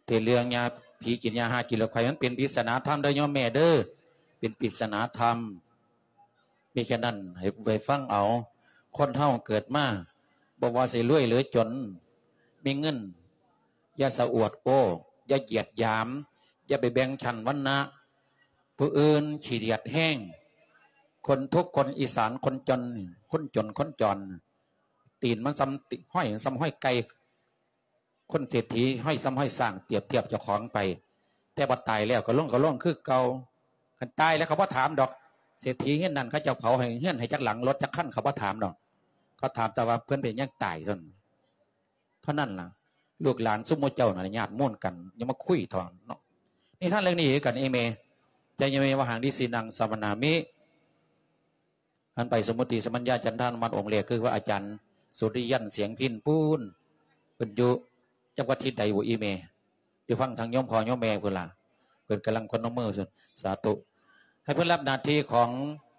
ແຕ່ເລື່ອງຍາ ຜີກິນຢາຫາກິນໂລດໄຂ້ ມັນເປັນປິດສະໜາທຳເດີໂຍມແມ່ເດີ ເປັນປິດສະໜາທຳ. ມີແຄ່ນັ້ນ ໃຫ້ໄປຟັງເອົາ. ຄົນເຮົາເກີດມາ ບໍ່ວ່າຊິລວຍຫຼືຈົນ ມີເງິນ ຢ່າສະອວດໂອ້ ຢ່າຢຽດຫຍາມ ຢ່າໄປແບ່ງຊັ້ນວັນນະຜູ້ອື່ນ ຂີ້ດຽດແຮງ. ຄົນທຸກຄົນອີສານ ຄົນຈົນ ຄົນຈົນຄົນຈອນ ຕີນມັນສ່ຳ ຫ້ອຍມັນສ່ຳຫ້ອຍໄກ່ ຄົນເສດຖີຫ້ອຍສ່ຳຫ້ອຍຊ້າງ ປຽບທຽບເຈົ້າຂອງໄປ. ແຕ່ວ່າຕາຍແລ້ວກໍລົງ ກໍລົງຄືເກົ່າ. ຄັນຕາຍແລ້ວເຂົາບໍ່ຖາມດອກ ເສດຖີເຮືອນນັ້ນ ເຂົາເຈົ້າເຜົາໃຫ້ເຮືອນໃຫ້ຈັກຫຼັງ ລົດຈັກຄັນ ເຂົາບໍ່ຖາມດອກ. ເຂົາຖາມແຕ່ວ່າເພິ່ນເປັນຫຍັງຕາຍເທົ່ານັ້ນ ເທົ່ານັ້ນລະ. ລູກຫຼານຊຸມໝູ່ເຈົ້ານັ້ນ ຍາດໂມນກັນ ຢ່າມາຄຸຍເຖາະເນາະ. ນິທານເລື່ອງນີ້ຄືກັນ ອີ່ແມ່ ຈະຢ່າແມ່ວ່າ ຫັງ ດິສິນັງ ສະມະນາມິ. ອັນໄປສະມຸດຕິສະມັນຍາຈັນທານຸມັດອົງແລກ ຄືວ່າອາຈານສຸລິຍັນ ສຽງພິນ ປູນ ເພິ່ນຢູ່ຈັກວັດທິດໃດບໍ່ອີ່ແມ່? ຢູ່ຝັ່ງທາງໂຍມພໍ່ໂຍມແມ່ພຸ້ນລະ ເພິ່ນກຳລັງພະນົມມື ສາທຸ ໃຫ້ເພິ່ນຮັບໜ້າທີ່ຂອງ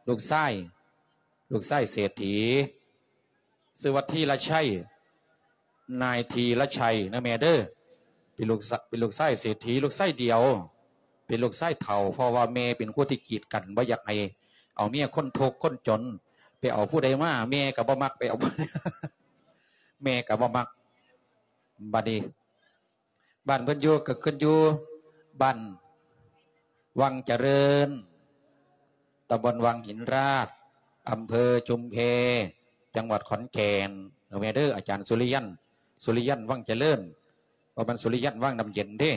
ລູກຊາຍ ລູກຊາຍເສດຖີ ຊື່ວ່າທີລະໄຊ ນາຍທີລະໄຊນະແມ່ເດີ. ເປັນລູກຊະ ເປັນລູກຊາຍເສດຖີ ລູກຊາຍດຽວ ເປັນລູກຊາຍເຖົ້າ ເພາະວ່າແມ່ເປັນຄົນທີ່ກີດກັນ ບໍ່ຢາກໃຫ້ເອົາເມຍຄົນທຸກຄົນຈົນ. ໄປເອົາຜູ້ໃດມາ ແມ່ກໍບໍ່ມັກ ໄປເອົາ ແມ່ກໍບໍ່ມັກ. ບັດນີ້ ບ້ານເພິ່ນຢູ່ກໍຂຶ້ນຢູ່ບ້ານວັງຈະເລີນ ຕຳບົນວັງຫີນລາດ ອຳເພີຊຸມແພ ຈັງຫວັດຂອນແກ່ນ. ເອີ ແມ່ເດີ ອາຈານສຸລິຍັນ ສຸລິຍັນວັງຈະເລີນ ບໍ່ແມ່ນສຸລິຍັນວັງນ້ຳເຢັນເດ້.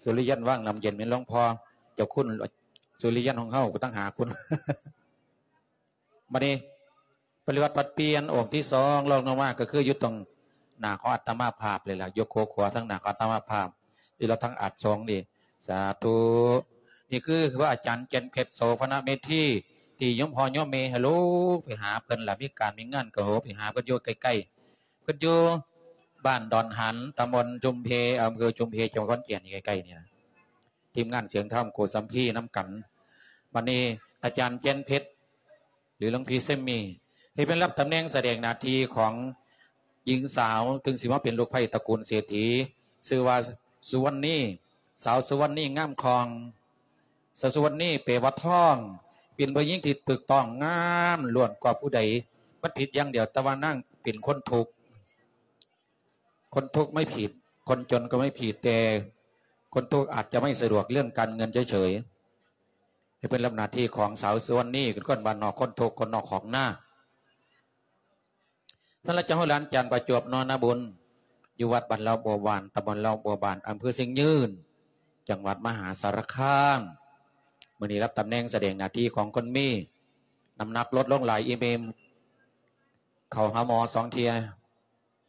ສຸລິຍັນວັງນ້ຳເຢັນແມ່ນຫຼວງພໍ່ເຈົ້າຄຸນສຸລິຍັນຂອງເຮົາ ຕ່າງຫາກພຸ້ນ. ບັດນີ້ປະລິວັດປັດປ່ຽນອົງທີສອງ ລອງລົງມາກໍຄືຢູ່ຕົງໜ້າຂອງອາດຕະມາພາບເລີຍລະ ຍົກໂຄຂວາທາງໜ້າຂອງອາດຕະມາພາບ ຢູ່ລະທາງອາດສອງນີ້. ສາທຸ. ນີ້ຄືພະອາຈານແກ່ນເພັດ ໂສພະນະເມທີ ທີ່ໂຍມພໍ່ໂຍມແມ່ໃຫ້ໂລໄປຫາເພິ່ນລະ ມີການມີງານກໍໂຫໄປຫາເພິ່ນຢູ່ໃກ້ໆ ເພິ່ນຢູ່ບ້ານດອນຫັນ ຕຳບົນຊຸມເພ ອຳເພີຊຸມເພ ຈັງຫວັດຂອນແກ່ນ ນີ້ໃກ້ໆນີ້ນະ. ທີມງານສຽງທຳໂກສຳພີນຳກັນ. ບັດນີ້ອາຈານແກ່ນເພັດ ຫຼື ຫຼວງພີ່ເຊມມີ ທີ່ເພິ່ນຮັບຕຳແໜ່ງສະແດງໜ້າທີ່ຂອງຍິງສາວ ເຖິງຊິມາເປັນລູກໃພ້ຕະກູນເສດຖີ ຊື່ວ່າສຸວັນນີ ສາວສຸວັນນີງາມຄ່ອງ. ສາວສຸວັນນີແປວ່າທອງ ເປັນຜູ້ຍິງທີ່ຖືກຕ້ອງງາມລ້ວນກວ່າຜູ້ໃດ. ມັນຜິດຢ່າງດຽວ ແຕ່ວ່ານາງເປັນຄົນທຸກ. ຄົນທຸກໄມ່ຜິດ ຄົນຈົນກໍໄມ່ຜິດ ແຕ່ຄົນທຸກອາດຈະໄມ່ສະດວກເລື່ອງການເງິນເສີຍໆ. ໃຫ້ເພິ່ນຮັບໜ້າທີ່ຂອງສາວສຸວັນນີ ເປັນຄົນບ້ານນອກ ຄົນທຸກ ຄົນນອກຄອກນາ. ສຳລັບເຈົ້າເຮົາຫຼານຈານປະຈວບ ນອນນາບຸນ ຢູ່ວັດບ້ານເລົ່າບົວບານ ຕຳບົນເລົ່າບົວບານ ອຳເພີຊຽງຍືນ ຈັງຫວັດມະຫາສາລະຄາມ. ມື້ນີ້ຮັບຕຳແໜ່ງສະແດງໜ້າທີ່ຂອງຄົນມີ ນ້ຳໜັກລົດລົງຫຼາຍ ອີ່ແມ່ ເຂົ້າຫາໝໍສອງເທື່ອ.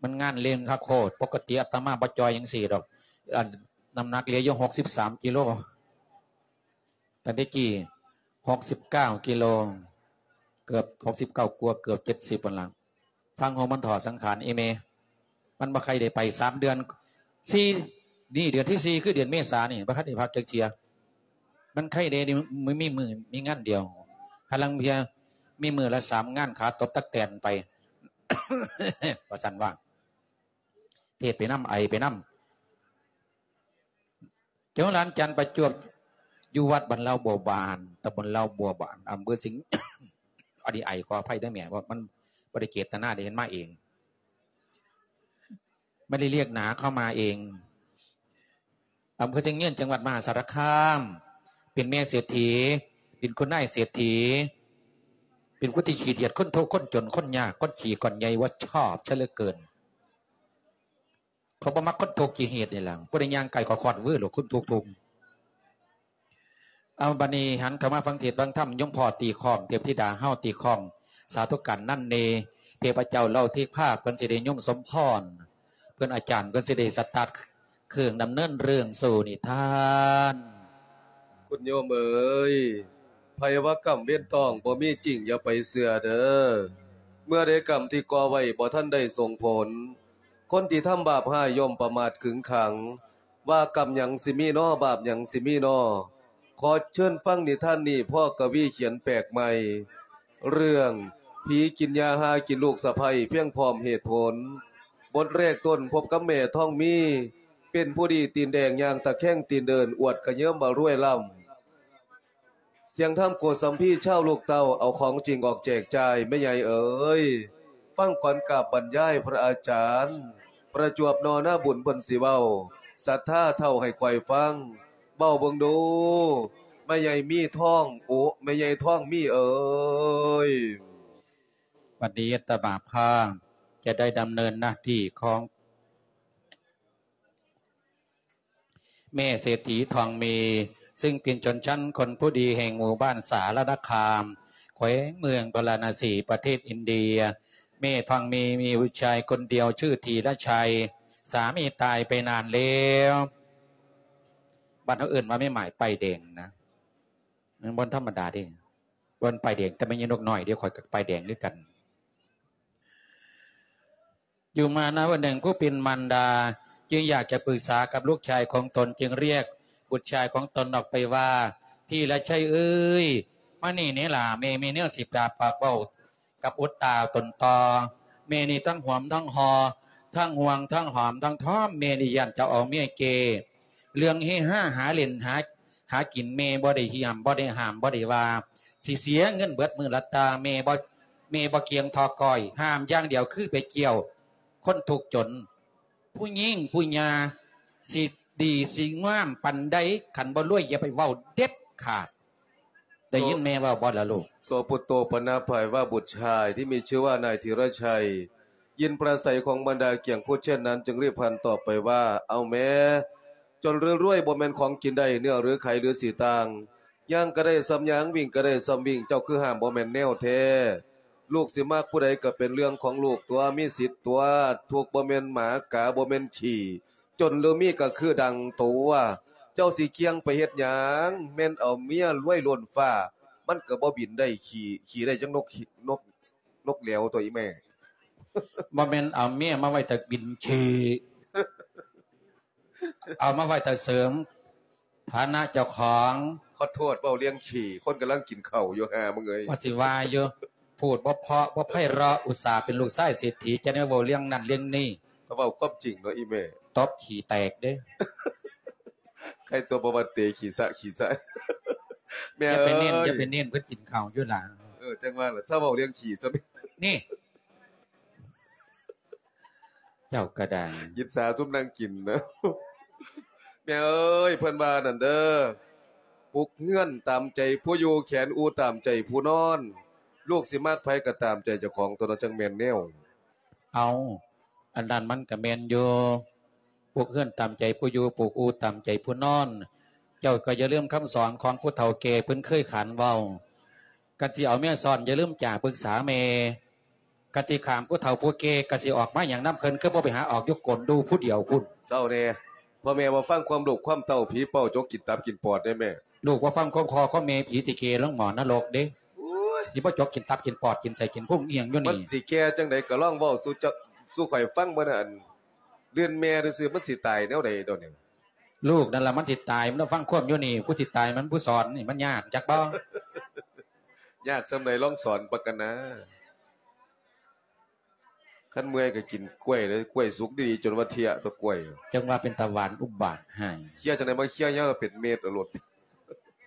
ມັນງານເລັ່ງຄັກໂຄດ. ປົກກະຕິອາດຕະມາບໍ່ຈ່ອຍຈັ່ງຊີ້ດອກ ອັນ ນ້ຳໜັກເຫຼືອຢູ່ຫົກສິບສາມກິໂລ ຕອນແຕ່ກີ້ຫົກສິບເກົ້າກິໂລ ເກືອບຫົກສິບເກົ້າກວ່າ ເກືອບເຈັດສິບຫັ້ນລະ. ທາງໂຮງມັນຖອດສັງຂານ ອີ່ແມ່ ມັນບໍ່ໃຄ່ໄດ້ໄປສາມເດືອນ ສີ່ ນີ້ເດືອນທີສີ່ ຄືເດືອນເມສານີ້ ບໍ່ທັນໄດ້ພັກຈັກເທື່ອ. ມັນໄຄ່ແດ່ ມີ ມີມື້ ມີງານດຽວ ຫາລາງເທື່ອມີມື້ລະສາມງານ ຂາຕົບຕັກແຕນໄປ ວ່າຊັ້ນວ່າ ເທດໄປນຳ ໄອໄປນຳ. ເຈົ້າຫຼານຈັນປະຈວບ ຢູ່ວັດບ້ານເລົ່າບົວບານ ຕຳບົນເລົ່າບົວບານ ອຳເພີຊຽງ ອັນນີ້ໄອ ຂໍອະໄພເດີແມ່ ເພາະມັນບໍ່ໄດ້ເຈດຕະນາ ໄດ້ເຫັນມາເອງ ບໍ່ໄດ້ລຽກໜາ ເຂົ້າມາເອງ. ອຳເພີຊຽງຍືນ ຈັງຫວັດມະຫາສາລະຄາມ ເປັນແມ່ເສດຖີ ເປັນຄຸນນາຍເສດຖີ ເປັນຄົນທີ່ຂີ້ດຽດ ຄົນທຸກ ຄົນຈົນ ຄົນຍາກ ຄົນຂີ້ກ້ອນໃຫຍ່ ບໍ່ຊອບຊະເຫຼືອເກີນ. ເຂົາບໍ່ມັກຄົນທຸກຂີ້ເຫດນີ້ແຫຼະ ຜູ້ໃດຍ່າງໃກ້ກໍຄອດວືໂລດ ຄົນທຸກທຸກ. ເອົາ ບັດນີ້ຫັນເຂົ້າມາຟັງເທດຟັງທຳ ໂຍມພໍ່ຕີຄ້ອງ ເທບທິດາເຮົາຕີຄ້ອງ ສາທຸການນັນເນ ເທບພະເຈົ້າເລົ່າທິພາ ເພິ່ນຊິໄດ້ຍົມສົມພອນ ເພິ່ນອາຈານ ເພິ່ນຊິໄດ້ສະຕາດເຄື່ອງດຳເນີນເລື່ອງສູ່ນິທານ. ຄຸນໂຍມເອີຍ ໃຜວ່າກຳເວນຕ້ອງບໍ່ມີຈິງ ຢ່າໄປເຊື່ອເດີ. ເມື່ອໃດກຳທີ່ກໍ່ໄວ້ບໍ່ທັນໄດ້ສົ່ງຜົນ ຄົນທີ່ທຳບາບຮ້າຍຍ່ອມປະໝາດຂຶງຂັງ ວ່າກຳຫຍັງຊິມີນໍ ບາບຫຍັງຊິມີນໍ. ຂໍເຊີນຟັງນິທານນີ້ ພໍ່ກະວີຂຽນແປກໃໝ່ ເລື່ອງຜີກິນຫຍ້າຫາກິນລູກສະໃພ້ ພຽງພ້ອມເຫດຜົນ. ບົດແລກຕົ້ນ ພົບກັບແມ່ທອງມີ ເປັນຜູ້ດີຕີນແດງຍ່າງຕະແຄງຕີນເດີນ ອວດກະເຍິມວ່າລວຍລ້ຳ. ສຽງທຳໂກສຳພີຊາວລູກເຕົ້າ ເອົາຂອງຈິງອອກແຈກຈ່າຍ ແມ່ໃຫຍ່ເອີຍ ຟັງກອນກາບບັນຍາຍພະອາຈານ ປະຈວບນໍໜ້າບຸນເພິ່ນຊິເວົ້າ ສັດທາເຖົ້າໃຫ້ຂ້ອຍຟັງ ເວົ້າເບິ່ງດູ ແມ່ໃຫຍ່ມີທອງ ໂອ ແມ່ໃຫຍ່ທອງມີເອີຍ. ວັນນີ້ອາດຕະມາພາບຈະໄດ້ດຳເນີນໜ້າທີ່ຂອງແມ່ເສດຖີທອງມີ ຊຶ່ງເປັນຊົນຊັ້ນຄົນຜູ້ດີແຫ່ງໝູ່ບ້ານສາລະນະຄາມ ແຂວງເມືອງພາລານະສີ ປະເທດອິນເດຍ. ແມ່ທອງມີມີບຸດຊາຍຄົນດຽວຊື່ທີລະໄຊ ສາມີຕາຍໄປນານແລ້ວ. ບ້ານເຮົາເອີ້ນວ່າແມ່ໝາຍປ້າຍແດງນະ ມັນບໍ່ທຳມະດາເດ້. ບໍ່ແມ່ນປ້າຍແດງ ແຕ່ແມ່ນຍານົກນ້ອຍເດ້ ຂ້ອຍກໍປ້າຍແດງຄືກັນ. ຢູ່ມານະວັນໜຶ່ງ ຜູ້ເປັນມານດາຈຶ່ງຢາກຈະປຶກສາກັບລູກຊາຍຂອງຕົນ ຈຶ່ງຮຽກບຸດຊາຍຂອງຕົນອອກໄປວ່າ ທີລະໄຊເອີຍ ມານີ້ແດ່ຫຼ້າ ແມ່ມີແນວຊິປາກເວົ້າກັບອຸດຕາຕົນຕໍ່. ແມ່ນີ້ທັງຫວມທັງຫໍ່ ທັງຫ່ວງທັງຫອມທັງທອມ ແມ່ນີ້ຢ້ານເຈົ້າເອົາເມຍເກ ເລື່ອງເຮຮາຫາຫຼິ້ນຫາ ຫາກິນແມ່ບໍ່ໄດ້ຫ້າມບໍ່ໄດ້ຫ້າມບໍ່ໄດ້ວ່າ ຊິເສຍເງິນເບິດມື້ລະຕາ ແມ່ບໍ່ແມ່ບໍ່ກຽງທໍ່ກ້ອຍ ຫ້າມຢ່າງດຽວຄືໄປກ່ຽວຄົນທຸກຈົນ. ຜູ້ຍິງຜູ້ຍ່າຊິດີຊິງາມປານໃດ ຄັນບໍ່ລວຍຢ່າໄປເວົ້າເດັດຂາດ. ໄດ້ຍິນແມ່ເວົ້າບໍ່ລະລູກ? ໂສປຸດໂຕ ປະນາພາຍວ່າບຸດຊາຍທີ່ມີຊື່ວ່ານາຍທີລະໄຊ ຍິນປາໄສຂອງບັນດາກ້ຽງຄູດເຊັ່ນນັ້ນ ຈຶ່ງຣີບຫັນຕອບໄປວ່າ ເອົາແມ່ ຈົນຫຼືລວຍບໍ່ແມ່ນຂອງກິນໄດ້ ເນື້ອຫຼືໄຂຫຼືສີຕ່າງ ຍ່າງກະໄດ້ສ່ຳຍ່າງ ວິ່ງກະໄດ້ສ່ຳວິ່ງ ເຈົ້າຄືຫ້າມບໍ່ແມ່ນແນວແທ້. ລູກຊິມັກຜູ້ໃດກະເປັນເລື່ອງຂອງລູກຕົວະ ມີສິດຕົວະ ທຸກບໍ່ແມ່ນໝາກາ ບໍ່ແມ່ນຂີ້ ຈົນຫຼືມີກະຄືດັງຕົວະ. ເຈົ້າຊິກ່ຽງໄປເຮັດຫຍັງ ແມ່ນເອົາເມຍລວຍລົ້ນຟ້າ ມັນກະບໍ່ບິນໄດ້ ຂີ່ ຂີ່ໄດ້ຈັ່ງນົກ ນົກ ນົກແຫຼວຕົວອີ່ແມ່. ບໍ່ແມ່ນເອົາເມຍມາໄວ້ແຕ່ບິນຂີ່ ເອົາມາໄວ້ແຕ່ເສີມຖານະເຈົ້າຂອງ. ຂໍໂທດ ເວົ້າເລື່ອງຂີ້ ຄົນກຳລັງກິນເຂົ້າຢູ່ ຫ່າມຶງເອີຍ. ວ່າຊິວ່າຢູ່ ພູດບໍ່ເພາະບໍ່ໄພເລາະ ອຸດສ່າເປັນລູກຊາຍເສດຖີ ຈະໄດ້ມາເວົ້າເລື່ອງນັ້ນເລື່ອງນີ້. ເວົ້າຄວາມຈິງເນາະອີ່ແມ່ ຕົບຂີ້ແຕກເດ້. ໃຄຕົວບໍ່ວ່າເຕະຂີ້ສະຂີ້ສະ. ແມ່ເອີຍ ຢ່າໄປເນັ້ນ ຢ່າໄປເນັ້ນ ເພິ່ນກິນເຂົ້າຢູ່ຫຼາ. ເອີ ຈັ່ງວ່າລະ ເຊົາເວົ້າເລື່ອງຂີ້ຊະ. ນີ້ ເຈົ້າກໍໄດ້ ອິດສາຊຸມນັ່ງກິນນະ. ແມ່ເອີຍ ເພິ່ນວ່ານັ້ນເດີ ປຸກເຮືອນຕາມໃຈຜູ້ຢູ່ ແຂນອູຕາມໃຈຜູ້ນອນ. ລູກຊິມັກໃຜກໍຕາມໃຈເຈົ້າຂອງຕົວເນາະ ຈັ່ງແມ່ນແນວ. ເອົາ ອັນນັ້ນມັນກໍແມ່ນຢູ່ ປຸກເຮືອນຕາມໃຈຜູ້ຢູ່ ປຸກອູຕາມໃຈຜູ້ນອນ. ເຈົ້າກໍຢ່າລືມຄຳສອນຂອງຜູ້ເຖົ້າແກ່ເພິ່ນເຄີຍຂານເວົ້າ ຄັນຊິເອົາເມຍຊ້ອນ ຢ່າລືມຈາປຶກສາແມ່. ກະຊິຂ້າມຜູ້ເຖົ້າຜູ້ແກ່ ກະຊິອອກມາຫຍັງນຳເພິ່ນ ຄືບໍ່ໄປຫາອອກຢູ່ກົ້ນດູຜູ້ດຽວພຸ້ນ. ເຊົາແດ່ ພໍ່ແມ່ບໍ່ຟັງຄວາມລູກຄວາມເຕົ້າ ຜີເປົ້າຈົກກິນຕັບກິນປອດເດ້ແມ່. ລູກບໍ່ຟັງຄວາມພໍ່ຄວາມແມ່ ຜີຊິເກລົງໝໍ້ນະລົກເດ້. ໂອ້ຍ ຊິບໍ່ຈົກກິນຕັບກິນປອດ ກິນໄສ້ກິນພຸງອີ່ຫຍັງຢູ່ນີ້. ມັນຊິແກ່ຈັ່ງໃດ ກະລອງເວົ້າສູ່ເຈົ້າ ສູ່ຂ້ອຍຟັງເບິ່ງນະ. ອັນ ລື່ນແມ່ຊື່ໆ ມັນຊິຕາຍແນວໃດດອກນີ້? ລູກນັ້ນລະມັນຊິຕາຍ ມັນຟັງຄວາມຢູ່ນີ້ ຜູ້ຊິຕາຍມັນຜູ້ສອນນີ້ ມັນຍາກຈັກບໍ່? ຍາກສ່ຳໃດ ລອງສອນປະກັນນາ. ຄັນເມື່ອຍກໍກິນກ້ວຍເດີ ກ້ວຍສຸກດີໆ ຈົນວ່າເທຍຕົວະກ້ວຍ. ຈັ່ງວ່າເປັນຕາຫວານອຸບາດໃຫ້. ເຄຍຈັ່ງໃດ ມາເຄຍຍາວເປັນເມັດເອົາໂລດ.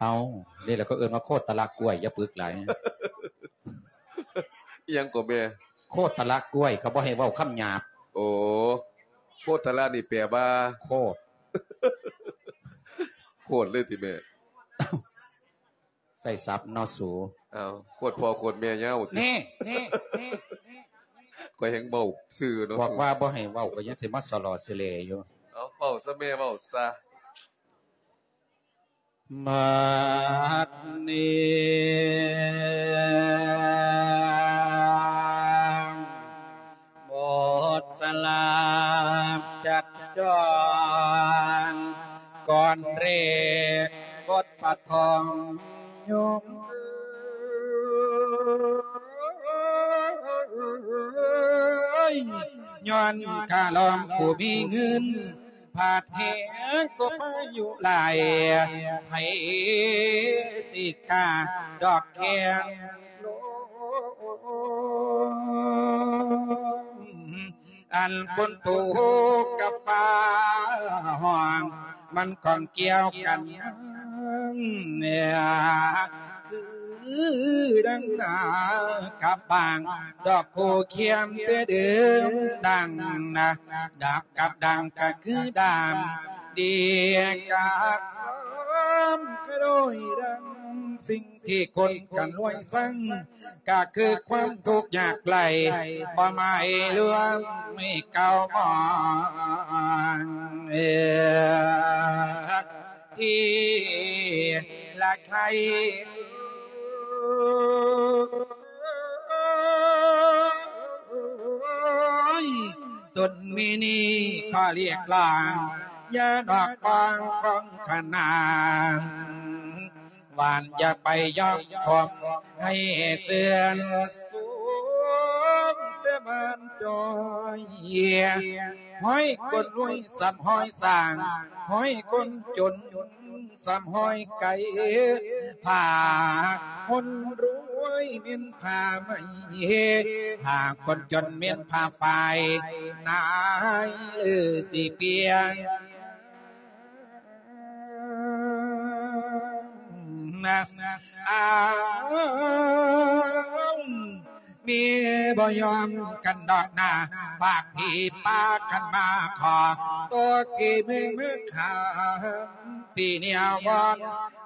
ເອົາ ນີ້ລະເຂົາເອີ້ນວ່າໂຄດຕະລະກ້ວຍ ຢ່າປຶກຫຼາຍ. ອີ່ຫຍັງກໍແມ່? ໂຄດຕະລະກ້ວຍ ເຂົາບໍ່ໃຫ້ເວົ້າຄຳຫຍາບ. ໂອ ໂຄດຕະລະນີ້ແປວ່າ? ໂຄດ. ໂຄດເລີຍຕິແມ່? ໃຊ້ສັບເນາະສູ. ເອົາ ໂຄດພໍ່ໂຄດແມ່ຍາວຕິ. ນີ້ ນີ້ ນີ້ ນີ້ ຂ້ອຍແຮ່ງເວົ້າຊື່ເນາະ. ບອກວ່າບໍ່ໃຫ້ເວົ້າ ກໍຍັງຊິມາສະຫຼໍ່ສະແຫຼຢູ່. ເອົາ ເວົ້າຊະແມ່ ເວົ້າຊະ. ບັດນີ້ ໝົດສະລາກຈັບຈອງ ກ່ອນເລກບົດປະທ້ອງໂຍມເອີຍ ຍ້ອນຂ້າລອງຜູ້ມີເງິນ ພາດແຮງກໍພາຍຸຫຼາຍ ໃຜຊິກ້າດອກແຂງລົມ ອັນຝົນຕົກກັບຟ້າຮ້ອງ ມັນຂ້ອງກ່ຽວກັນ ຄືດັ່ງນາກັບບາງ ດອກໂຄຂຽມແຕ່ເດີມ ດັ່ງນາດາບກັບດັ່ງ ກໍຄືດ້າມດີກັບຊ້ຳ ກະໂດຍດັ່ງສິ່ງ ທີ່ຄົນກັນລວຍຊັງ ກະຄືຄວາມທຸກຍາກໄຮ້ ຄວາມໝາຍລວມໃຫ້ເກົ່າມອງ ທີ່ລະໄຄ ຕົນມີນີ້ຂໍລຽກຮ້ອງ ຢ່ານອກກອງຂອງຂະໜານ ຫວານຢ່າໄປຍອມຄອມໃຫ້ເຊື່ອນສູງ ແຕ່ບ້ານຈອຍ ຮ້ອຍຄົນລວຍສ່ຳຮ້ອຍສ້າງ ຮ້ອຍຄົນຈົນສ່ຳຮ້ອຍໄກ່ ພາຄົນລວຍເປັນຜ້າໄໝ ພາຄົນຈົນເປັນຜ້າຝ້າຍ ນາຍເອີ ຊິປ່ຽງ ອ້າວ ມີບໍ່ຍອມກັນດອກນາ ຝາກຜີປ່າຄັນມາຂໍ ຕົວກີເມືອງເມືອງຄາ ຊິແນວວອນ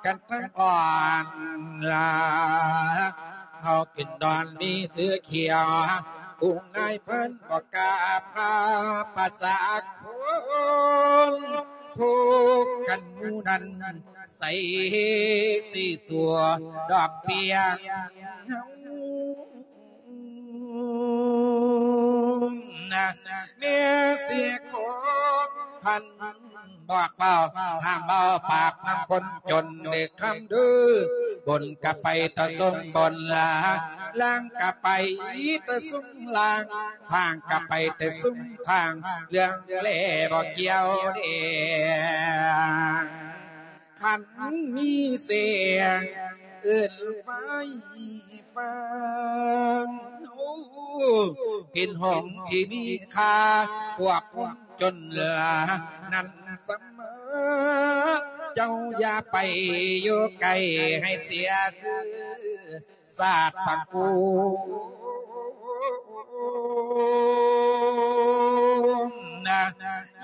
ກັນທັງອ່ອນລາ ເຮົາຂຶ້ນດອນມີເສືອຂຽວ ກຸ່ມນາຍພັນບໍ່ກ້າພາ ພາສາຄົນທຸກກັນໝູ່ນັ້ນ ໃສ່ຊິຊົ່ວດອກເບ້ຍ ແມ່ເສຍຂອງພັນ ບອກເວົ້າ ຫ້າມເວົ້າປາກນຳຄົນຈົນເລີກຄຳເດີ ບົນກະໄປແຕ່ຊຸມບົນລາ ລ່າງກະໄປແຕ່ຊຸມລ່າງ ທາງກະໄປແຕ່ຊຸມທາງ ເລື່ອງແລບໍ່ກ່ຽວເດ ຄັນມີສຽງເອີ້ນໄຟ ຟັງເປັນຫ້ອງທີ່ມີຄ່າ ພວກຄົນຈົນລານັ້ນສະມາ ເຈົ້າຢ່າໄປຢູ່ໃກ້ ໃຫ້ເສຍຊື່ຊາດຕະກູນນະ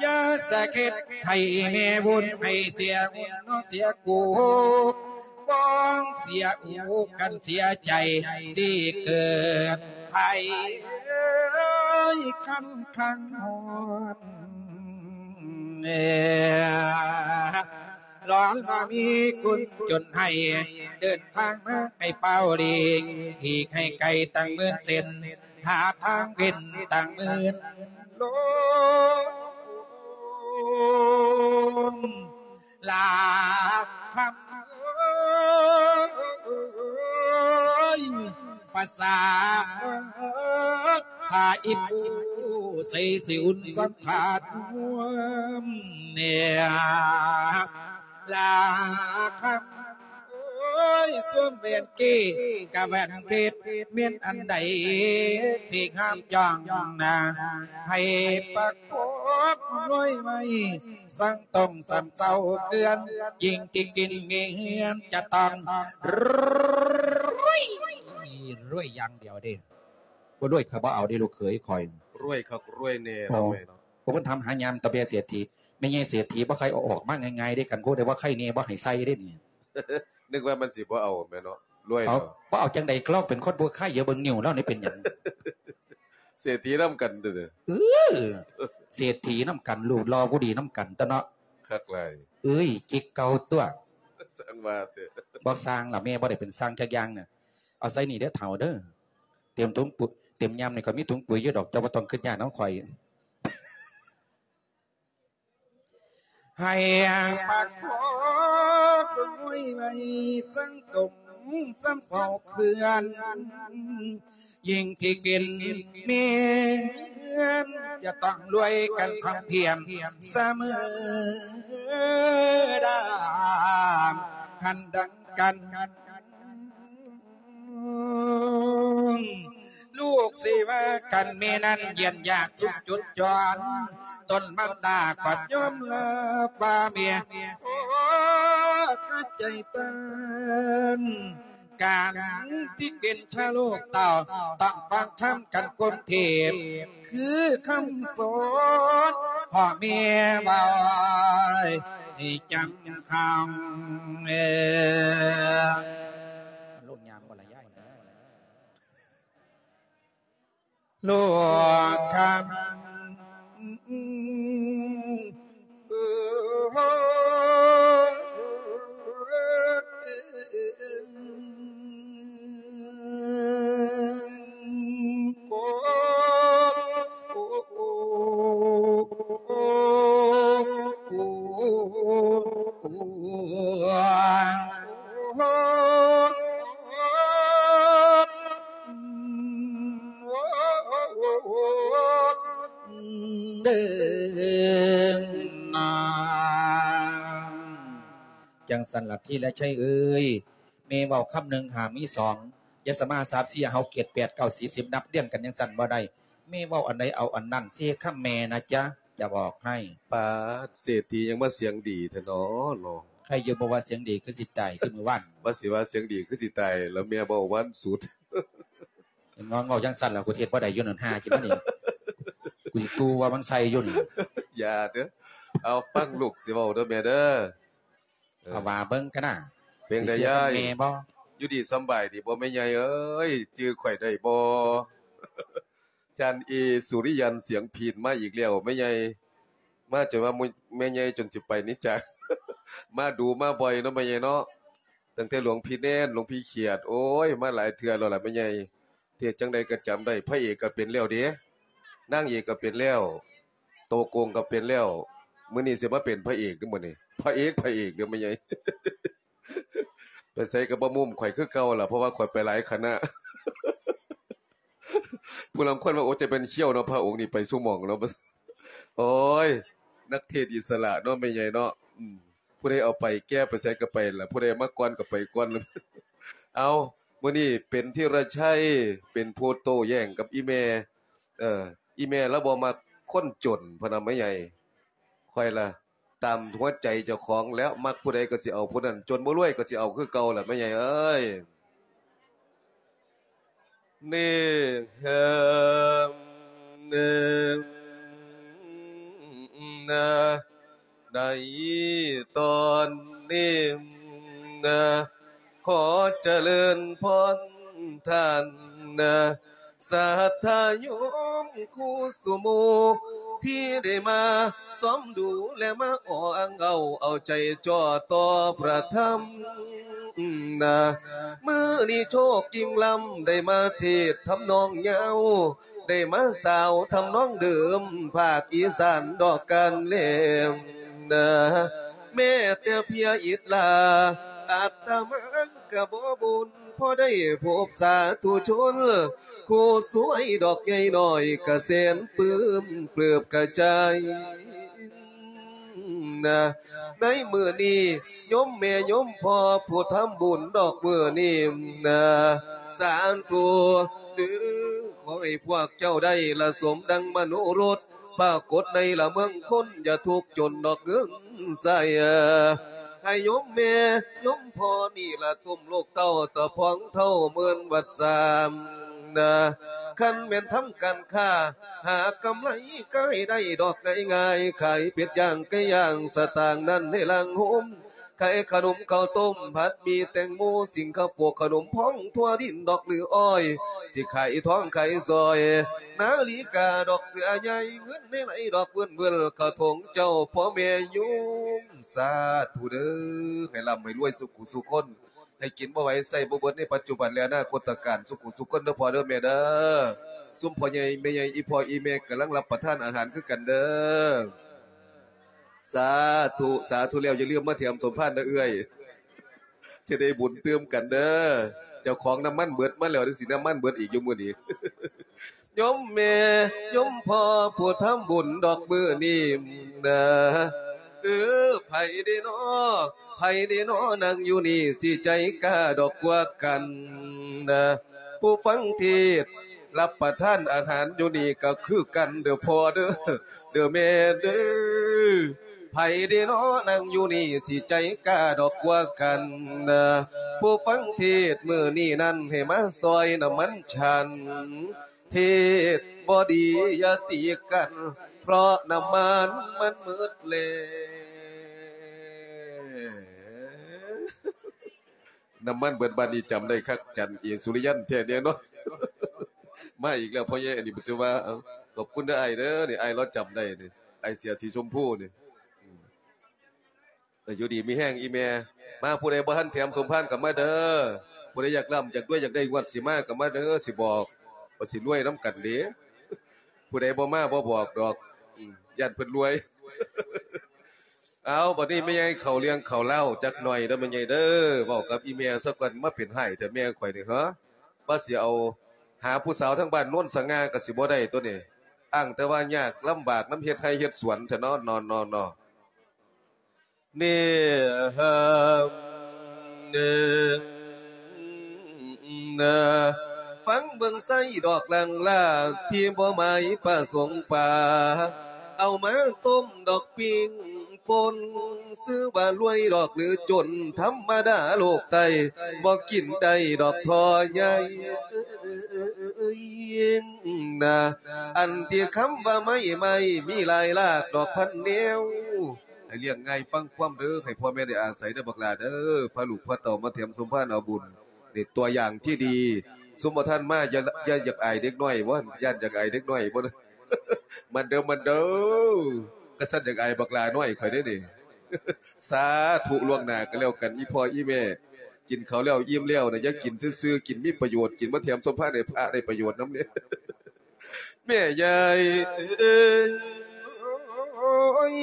ຢ່າສະເກັດໃຫ້ແມ່ບຸນ ໃຫ້ເສຍບຸນເນາະເສຍກູນ ຟ້ອງເສຍອູກັນເສຍໃຈ ຊິເກີດໄພຄັນຄັງຮ້ອນ ຮ້ອນວ່າມີຄົນຈົນໃຫ້ ເດີນທາງມາໃຫ້ເຝົ້າຫຼີກ ຫຼີກໃຫ້ໄກຕັ້ງໝື່ນເສັ້ນ ຫາທາງເວັ້ນຕັ້ງໝື່ນລົມ ລາຄຳເອີຍ ພາສາພາອີ່ປູໃສ່ຊິອຸ່ນສຳພາດຮ່ວມແນວ ລາຄຳເອີຍ ສວມແຫວນເກກະແຫວນເພັດ ແມ່ນອັນໃດທີ່ງາມຈ້ອງນາ ໃຫ້ປະກອບດ້ວຍໄມ້ ສັງຕົງສຳເຊົາເຄື່ອນ ຍິ່ງທີ່ກິນມີເຮືອນຈະຕ້ອງ ລວຍ ລວຍຢ່າງດຽວເດ້ ບໍ່ລວຍຂ້ອຍບໍ່ເອົາເດ້ ລູກເຂີຍຂ້ອຍ ລວຍຄັກລວຍແນ່ເນາະ ໂອ້ ແມ່ເນາະ ໂອ້ ເພິ່ນຖາມຫາຍາມຕາແບເສດຖີ ແມ່ໃຫຍ່ເສດຖີບໍ່ໃຄ່ເອົາອອກມາງ່າຍໆເດ້ ຄັນຜູ້ໃດວ່າໃຄ່ແນ່ບໍ່ໃຫ້ໃສ່ເດ້ນີ້ ນຶກວ່າມັນຊິບໍ່ເອົາແມ່ນເນາະ ລວຍ ເອົາ ເນາະ ບໍ່ເອົາຈັ່ງໃດ ລາວເປັນຄົນບໍ່ໃຄ່ ຢ່າເບິ່ງນິ້ວລາວນີ້ເປັນຫຍັງ ເສດຖີນຳກັນເດີ ເອີ ເສດຖີນຳກັນ ຮູບຫຼໍ່ຜູ້ດີນຳກັນຕົວະເນາະ ຄັກຫຼາຍ ເອີຍ ຈິກເກົ່າຕົວະ ຊ່າງວ່າເຖາະ ບໍ່ຊ່າງລະ ແມ່ບໍ່ໄດ້ເປັນຊ່າງຈັກຢ່າງນະ ເອົາໃສ່ນີ້ເດີເຖົ້າເດີ ເຕັມຖົງປຸ ເຕັມຍາມນີ້ຂ້ອຍມີຖົງປຸຍຢູ່ດອກ ເຈົ້າບໍ່ຕ້ອງຄຶດຍາກນຳຂ້ອຍ ໃຫ້ປະຄອງໄວ້ ໄວ້ສັງຕົງສຳເຊົາເຄື່ອນ ຍິ່ງທີ່ເປັນແມ່ເຮືອນ ຈະຕ້ອງລວຍກັນພຳພຽມສະເໝີດາມ ຄັນດັງກັນ ລູກ ຊິວ່າກັນແມ່ນັ້ນຢ້ຽນຢາກສຸກຈຸດຈອນ ຕົນມານດາກໍຍອມຮັບວ່າແມ່ ໂອ້ ໃຈຕັນ ການທີ່ເປັນຊາວໂລກເຕົ້າ ຕ້ອງຟັງຄຳກັນກົມເທບ ຄືຄຳສອນພໍ່ແມ່ເວົ້າໃຫ້ຈຳຄຳ ເອີ ລົງຍາມບໍ່ລະຍາຍ? ໂລກຄຳ ຈັ່ງຊັ້ນລະ ທີລະໄຊເອີຍ ແມ່ເວົ້າຄຳໜຶ່ງ ຫ້າມີສອງ ຢ່າສະມາ ສາມ ສີ່ ຫ້າ ຫົກ ເຈັດ ແປດ ເກົ້າ ສິບ ສິບ ນັບລຽງກັນຈັ່ງຊັ້ນບໍ່ໄດ້ ແມ່ເວົ້າອັນໃດເອົາອັນນັ້ນ ເຊຄຳແມ່ນະຈະ ຈະບອກໃຫ້. ປາດ ເສດຖີຍັງມາສຽງດີແທ້ເນາະ ເນາະ ໃຄຢູ່ບໍ່ວ່າສຽງດີຄືຊິຕາຍຄືມື້ວານ ວ່າຊິວ່າສຽງດີຄືຊິຕາຍ ແລ້ວແມ່ເວົ້າຫວານສຸດ ງອນເວົ້າຈັ່ງຊັ້ນລະ ກູເຮັດບໍ່ໄດ້ຢູ່ນັ້ນ ຫ້າຈິມານີ້ ກູຊິຕູວ່າມັນໃສ່ຢູ່ນີ້ ຢ່າເດີ້ ເອົາຟັງລູກຊິເວົ້າເດີ້ແມ່ເດີ້ ເອີ ເອົາວ່າເບິ່ງກະນະ ເປັນໃດຍາຍ ແມ່ບໍ່ ຢູ່ດີສຳບາຍດີບໍ່ແມ່ໃຫຍ່ເອີຍ ຈື່ຂ້ອຍໄດ້ບໍ່? ຈານເອ ສຸລິຍັນ ສຽງພີນມາອີກແລ້ວແມ່ໃຫຍ່ ມາຈົນວ່າແມ່ໃຫຍ່ຈົນຊິໄປນີ້ຈ້າ ມາດູມາບ່ອຍເນາະແມ່ໃຫຍ່ເນາະ ຕັ້ງແຕ່ຫຼວງພີ່ແນນ ຫຼວງພີ່ຂຽດ ໂອ້ຍ ມາຫຼາຍເທື່ອແລ້ວລະແມ່ໃຫຍ່ ເຮັດຈັ່ງໃດກໍຈຳໄດ້ ພະເອກກໍເປັນແລ້ວເດ ນາງເອກກໍເປັນແລ້ວ ໂຕໂກງກໍເປັນແລ້ວ ມື້ນີ້ຊິມາເປັນພະເອກເດີ້ມື້ນີ້ ພະເອກ ພະເອກເດີ້ແມ່ໃຫຍ່ ໄປໃສກໍບໍ່ມຸ້ມຂ້ອຍຄືເກົ່າລະ ເພາະວ່າຂ້ອຍໄປຫຼາຍຄະນະ ຜູ້ລາງຄົນວ່າ ໂອ້ ຈະເປັນຂ້ຽວເນາະ ພະອົງນີ້ໄປສູ່ໝ່ອງເນາະ ໂອ້ຍ ນັກເທດອິດສະຫຼະເນາະແມ່ໃຫຍ່ເນາະ ອືມ ຜູ້ໃດເອົາໄປແກ່ໄປໃສກໍໄປລະ ຜູ້ໃດມາກ່ອນກໍໄປກ່ອນ ເອົາ ມື້ນີ້ເປັນທີລະໄຊ ເປັນຜູ້ໂຕ້ແຍ່ງກັບອີ່ແມ່ ເອີ ອີ່ແມ່ລາວບໍ່ມັກຄົນຈົນ ພະນະແມ່ໃຫຍ່ ຂ້ອຍລະ ຕາມຫົວໃຈເຈົ້າຂອງແລ້ວ ມັກຜູ້ໃດກໍຊິເອົາຜູ້ນັ້ນ ຈົນບໍ່ລວຍກໍຊິເອົາຄືເກົ່າລະແມ່ໃຫຍ່ເອີຍ. ນີ້ ເອີ ໃນຕອນນີ້ ຂໍຈະເລີນພອນທ່ານ ສັດທາໂຍມຄູ່ສູ່ໝູ່ ທີ່ໄດ້ມາຊອມດູ ແລະ ມາອ້ອງເອົາ ເອົາໃຈຈ່ອຕໍ່ພະທຳນະ. ມື້ນີ້ໂຊກຍິ່ງລ້ຳ ໄດ້ມາເທດທຳນອງຍາວ ໄດ້ມາສາວທຳນອງເດີມ ພາກອີສານດອກການແລມນະ. ແມ້ແຕ່ເພຍອິດລາ ອາດຕະມາກະບໍ່ບຸນ ພໍໄດ້ພົບສາທຸຊົນ ຄູ່ຊ່ວຍດອກໃຫຍ່ນ້ອຍ ກະແສນປຶ້ມເກືອບກະຈາຍນະ. ໃນມື້ນີ້ໂຍມແມ່ໂຍມພໍ່ຜູ້ທຳບຸນດອກມື້ນີ້ນະ ສາທຸເດີ ຂໍໃຫ້ພວກເຈົ້າໄດ້ລະສົມດັ່ງມະໂນລົດ ປາກົດໃນລະເມືອງຄົນ ຢ່າທຸກຈົນດອກເງິນໃຊ້ ໃຫ້ໂຍມແມ່ໂຍມພໍ່ນີ້ລະ ຕົມລູກເຕົ້າຕະພອງເທົ່າໝື່ນວັດສາມນະ. ຄັນແມ່ນທຳການຄ້າ ຫາກຳໄລກາຍໄດ້ດອກງ່າຍໆ ຂາຍເປັດຍ່າງໄກ່ຍ່າງ ສະຕາງນັ້ນໃຫ້ລ້າງໂຮມ ຂາຍຂະໜົມເຂົ້າຕົ້ມ ຜັດໝີ່ແຕງໂມ ສິງຄະໂປ ຂະໜົມພອງ ຖົ່ວດິນດອກຫຼືອ້ອຍ ຊິຂາຍທອງຂາຍສ້ອຍ ນາລິກາດອກເສືອໃຫຍ່ ເງິນໃນໄຫຼດອກເວີ້ນໆ ເຂົ້າຖົງເຈົ້າພໍ່ແມ່ໂຍມ ສາທຸເດີ ໃຫ້ລ່ຳໃຫ້ລວຍສຸຂູສຸຄົນ ໃຫ້ກິນບໍ່ໄຫວໃຊ້ບໍ່ເບິດໃນປັດຈຸບັນ ແລະ ອະນາຄົດຕະການ ສຸຂູສຸຄົນເດີພໍ່ເດີແມ່ເດີ. ຊຸມພໍ່ໃຫຍ່ແມ່ໃຫຍ່ ອີ່ພໍ່ອີ່ແມ່ກຳລັງຮັບປະທານອາຫານຄືກັນເດີ. ສາທຸ ສາທຸແລ້ວ ຢ່າລືມມາແຖມສົມພານເດີເອື້ອຍ ຊິໄດ້ບຸນຕື່ມກັນເດີ. ເຈົ້າຂອງນ້ຳມັນເບິດມາແລ້ວ ຈັ່ງຊິນ້ຳມັນເບິດອີກຢູ່ມື້ນີ້. ໂຍມແມ່ໂຍມພໍ່ຜູ້ທຳບຸນດອກມື້ນີ້ນະ ເອີ ໃຜເດນໍ ໃຜເດນໍ ນັ່ງຢູ່ນີ້ ຊິໃຈກ້າດອກກວ່າກັນນະ ຜູ້ຟັງເທດ ຮັບປະທານອາຫານຢູ່ນີ້ກໍຄືກັນເດີ້ພໍ່ເດີ້ ເດີ້ແມ່ເດີ້. ໃຜເດເນາະນັ່ງຢູ່ນີ້ຊິໃຈກ້າດອກກວ່າກັນນະ. ຜູ້ຟັງເທດມື້ນີ້ນັ້ນໃຫ້ມາຊ່ອຍນ້ຳມັນສັນ. ເທດບໍ່ດີຢ່າຕີກັນ ເພາະນ້ຳມັນມັນໝົດແລ້ວ. ນ້ຳມັນເບິດບາດນີ້ຈຳໄດ້ຄັກ ຈັນເອສຸລິຍັນແທ້ແນ່ນອນ. ມາອີກແລ້ວພໍ່ໃຫຍ່ ອັນນີ້ເພິ່ນຊິວ່າ ເອົ້າ ຂອບຄຸນເດີ້ອ້າຍເດີ້ ນີ້ອ້າຍລາວຈຳໄດ້ນີ້ ອ້າຍເສື້ອສີຊົມພູນີ້. ເອີ ຢູ່ດີມີແຮງອີ່ແມ່. ມາ ຜູ້ໃດບໍ່ທັນແຖມສົມພານກໍມາເດີ້. ຜູ້ໃດຢາກລ່ຳຢາກລວຍ ຢາກໄດ້ງວດຊິມາກໍມາເດີ້ ຊິບອກ ວ່າຊິລວຍນຳກັນເດ້. ຜູ້ໃດບໍ່ມາບໍ່ບອກດອກ ອືມ ຢ້ານເພິ່ນລວຍ. ເອົາ ບັດນີ້ແມ່ໃຫຍ່ເຂົ້າເລື່ອງເຂົ້າລາວຈັກໜ່ອຍເດີ້ແມ່ໃຫຍ່ເດີ້. ເວົ້າກັບອີ່ແມ່ຊະກ່ອນ ມາເປັນຮ້າຍແທ້ແມ່ຂ້ອຍນີ້ ເຮີ ວ່າຊິເອົາຫາຜູ້ສາວທາງບ້ານໂນນສະຫງ່າກໍຊິບໍ່ໄດ້ຕົວນີ້ ອ້າງແຕ່ວ່າຍາກລຳບາກນຳເຮັດໄຮ່ເຮັດສວນແທ້ເນາະ ເນາະ ເນາະ ເນາະ. ນີ້ ຟັງເບິ່ງໄຊດອກລາງລາ ທີ່ບໍ່ໝາຍປະສົງປາ ເອົາມາຕົ້ມດອກປີ້ງປົ່ນ ຊື່ວ່າລວຍດອກຫຼືຈົນ ທຳມະດາໂລກໃຕ້ ບໍ່ກິນໄດ້ດອກທໍ່ໃຫຍ່. ອັນທີ່ຄຳວ່າໄມ້ ໄມ້ມີຫຼາຍລາກດອກພັນແນວ ໃຫ້ລ້ຽງງ່າຍຟັງຄວາມເດີ້ ໃຫ້ພໍ່ແມ່ໄດ້ອາໄສເດີ້ບັກຫຼ້າເດີ້ ພາລູກພາເຕົ້າມາແຖມສົມພານເອົາບຸນ. ນີ້ຕົວຢ່າງທີ່ດີ ຊຸມບໍ່ທັນມາ ຢ່າ ຢ່າຢາກອາຍເດັກນ້ອຍບໍ? ຢ້ານຢາກອາຍເດັກນ້ອຍບໍ? ມັນເດີ້ ມັນເດີ້ ກະຊັ້ນຢາກອາຍບັກຫຼ້ານ້ອຍຂ້ອຍເດ້ນີ້. ສາທຸລ່ວງໜ້າກໍແລ້ວກັນ ອີ່ພໍ່ອີ່ແມ່ ກິນເຂົ້າແລ້ວອີ່ມແລ້ວນະ ຢ່າກິນຊື່ໆ ກິນມີປະໂຫຍດ ກິນມາແຖມສົມພານໃຫ້ພະໄດ້ປະໂຫຍດນຳເດ້. ແມ່ໃຫຍ່ເອີຍ